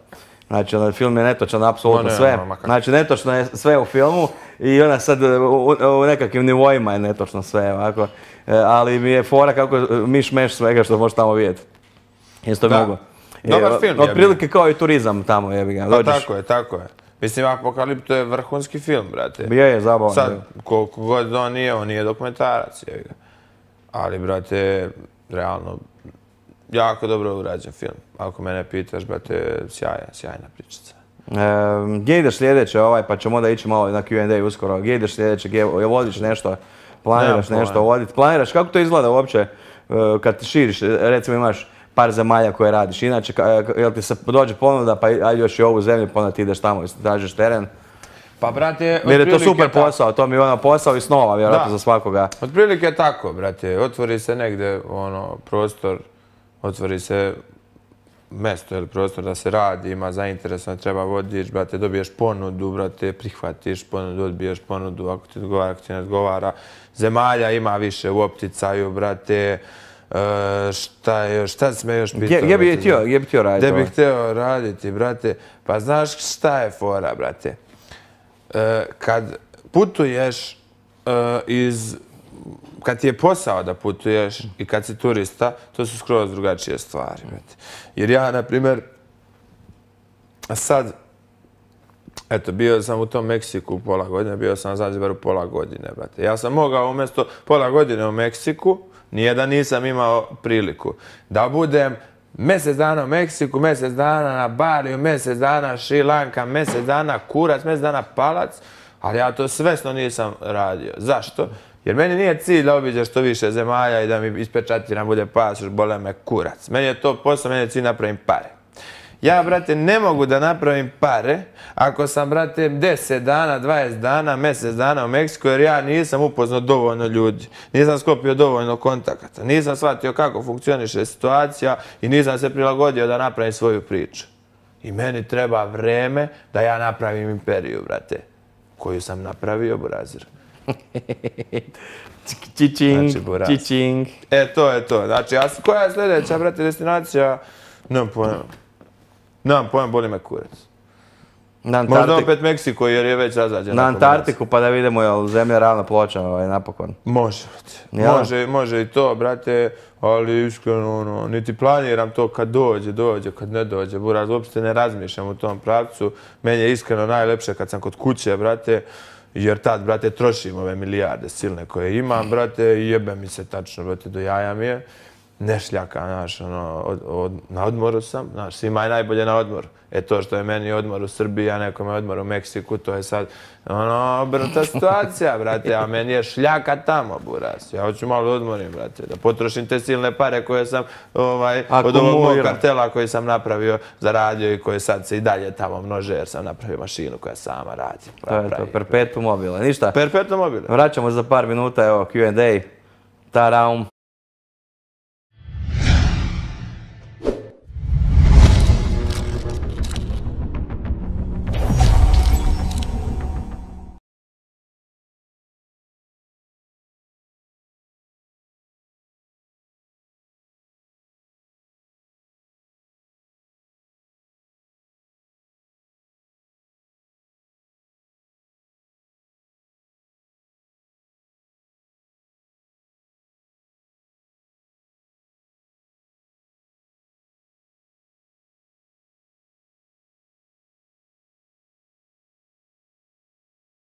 Speaker 1: Znači, film je netočan apsolutno sve. Znači, netočno je sve u filmu i ona sad u nekakvim nivoima je netočno sve ovako. Ali mi je fora kako miš-meš svega što možeš tamo vidjeti. Isto mogu.
Speaker 2: Dobar film je.
Speaker 1: Otprilike kao i turizam tamo jebi ga.
Speaker 2: Tako je. Mislim, Apokalipto je vrhunski film, brate.
Speaker 1: Je, zabavan.
Speaker 2: Sad, koliko god on nije dokumentarac, jebi ga. Ali, brate, realno, jako dobro urađen film. Ako mene pitaš, brate, sjajna pričica.
Speaker 1: Gdje ideš sljedeće, pa ćemo onda ići malo na Q&A uskoro. Gdje ideš sljedeće, vodiš nešto, planiraš nešto voditi. Planiraš, kako to izgleda uopće? kad ti širiš, recimo imaš par zemalja koje radiš, inače, jel ti se dođe ponuda, pa aj još i ovu zemlju, pa onda ti ideš tamo i tražiš teren.
Speaker 2: Pa, brate,
Speaker 1: Jer je to super posao, to mi je ono posao i snova, vjerojatno za svakoga.
Speaker 2: Otprilike tako, brate, otvori se negde, prostor, otvori se mesto ili prostor da se radi, ima zainteresovan, treba vodič, brate, dobiješ ponudu, brate, prihvatiš ponudu, odbiješ ponudu, ako ti odgovara, ako ti ne odgovara. Zemalja ima više u opticaju, brate, šta si me još pitao?
Speaker 1: Gdje bi htio raditi?
Speaker 2: Gdje bi htio raditi, brate? Pa znaš šta je fora, brate? Kad putuješ kad ti je posao da putuješ i kad si turista, to su skroz drugačije stvari, brate. Jer ja, na primjer, sad, eto, bio sam u tom Meksiku pola godine, bio sam na Zanzibaru pola godine, brate. Ja sam mogao umjesto pola godine u Meksiku, nijedan nisam imao priliku da budem mjesec dana u Meksiku, mjesec dana na Baliju, mjesec dana Šri Lanka, mjesec dana kurac, mjesec dana palac, ali ja to svesno nisam radio. Zašto? Jer meni nije cilj da obiđem što više zemalja i da mi ispečatiram bude pasoš, bole me kurac. Meni je to posao, meni je cilj napravim pare. Ja, brate, ne mogu da napravim pare ako sam, brate, 10 dana, 20 dana, mjesec dana u Meksiku, jer ja nisam upoznao dovoljno ljudi, nisam sklopio dovoljno kontakata, nisam shvatio kako funkcioniše situacija i nisam se prilagodio da napravim svoju priču. I meni treba vreme da ja napravim imperiju, brate, koju sam napravio, burazir.
Speaker 1: Čičing, čičing.
Speaker 2: To je to. Znači, koja je sljedeća, brate, destinacija? Nemam pojma. Nemam pojma, boli me kurac. Možda opet Meksiko, jer je već razađen.
Speaker 1: Na Antarktiku, pa da vidimo je li zemlja ravna ploča napokon.
Speaker 2: Može, brate. Može i to, brate, ali iskreno, niti planiram to kad dođe, kad ne dođe. Buraz, uopšte ne razmišljam u tom pravcu. Meni je iskreno najlepše kad sam kod kuće, brate, jer tad, brate, trošim ove milijarde silne koje imam, brate, i jebe mi se tačno, brate, do jaja mi je. Ne šljaka, znaš, na odmoru sam, znaš, svima je najbolje na odmoru. To što je meni odmor u Srbiji, a nekome odmor u Meksiku, to je sad, obrnuta situacija, brate, a meni je šljaka tamo, buraz. Ja hoću malo odmorim, brate, da potrošim te silne pare koje sam, od ovog mog kartela koji sam napravio, zaradio i koje sad se i dalje tamo množe, jer sam napravio mašinu koja sama radi.
Speaker 1: To je to, perpetuum mobile. Ništa.
Speaker 2: Perpetuum mobile.
Speaker 1: Vraćamo za par minuta, evo, Q&A. Taraum.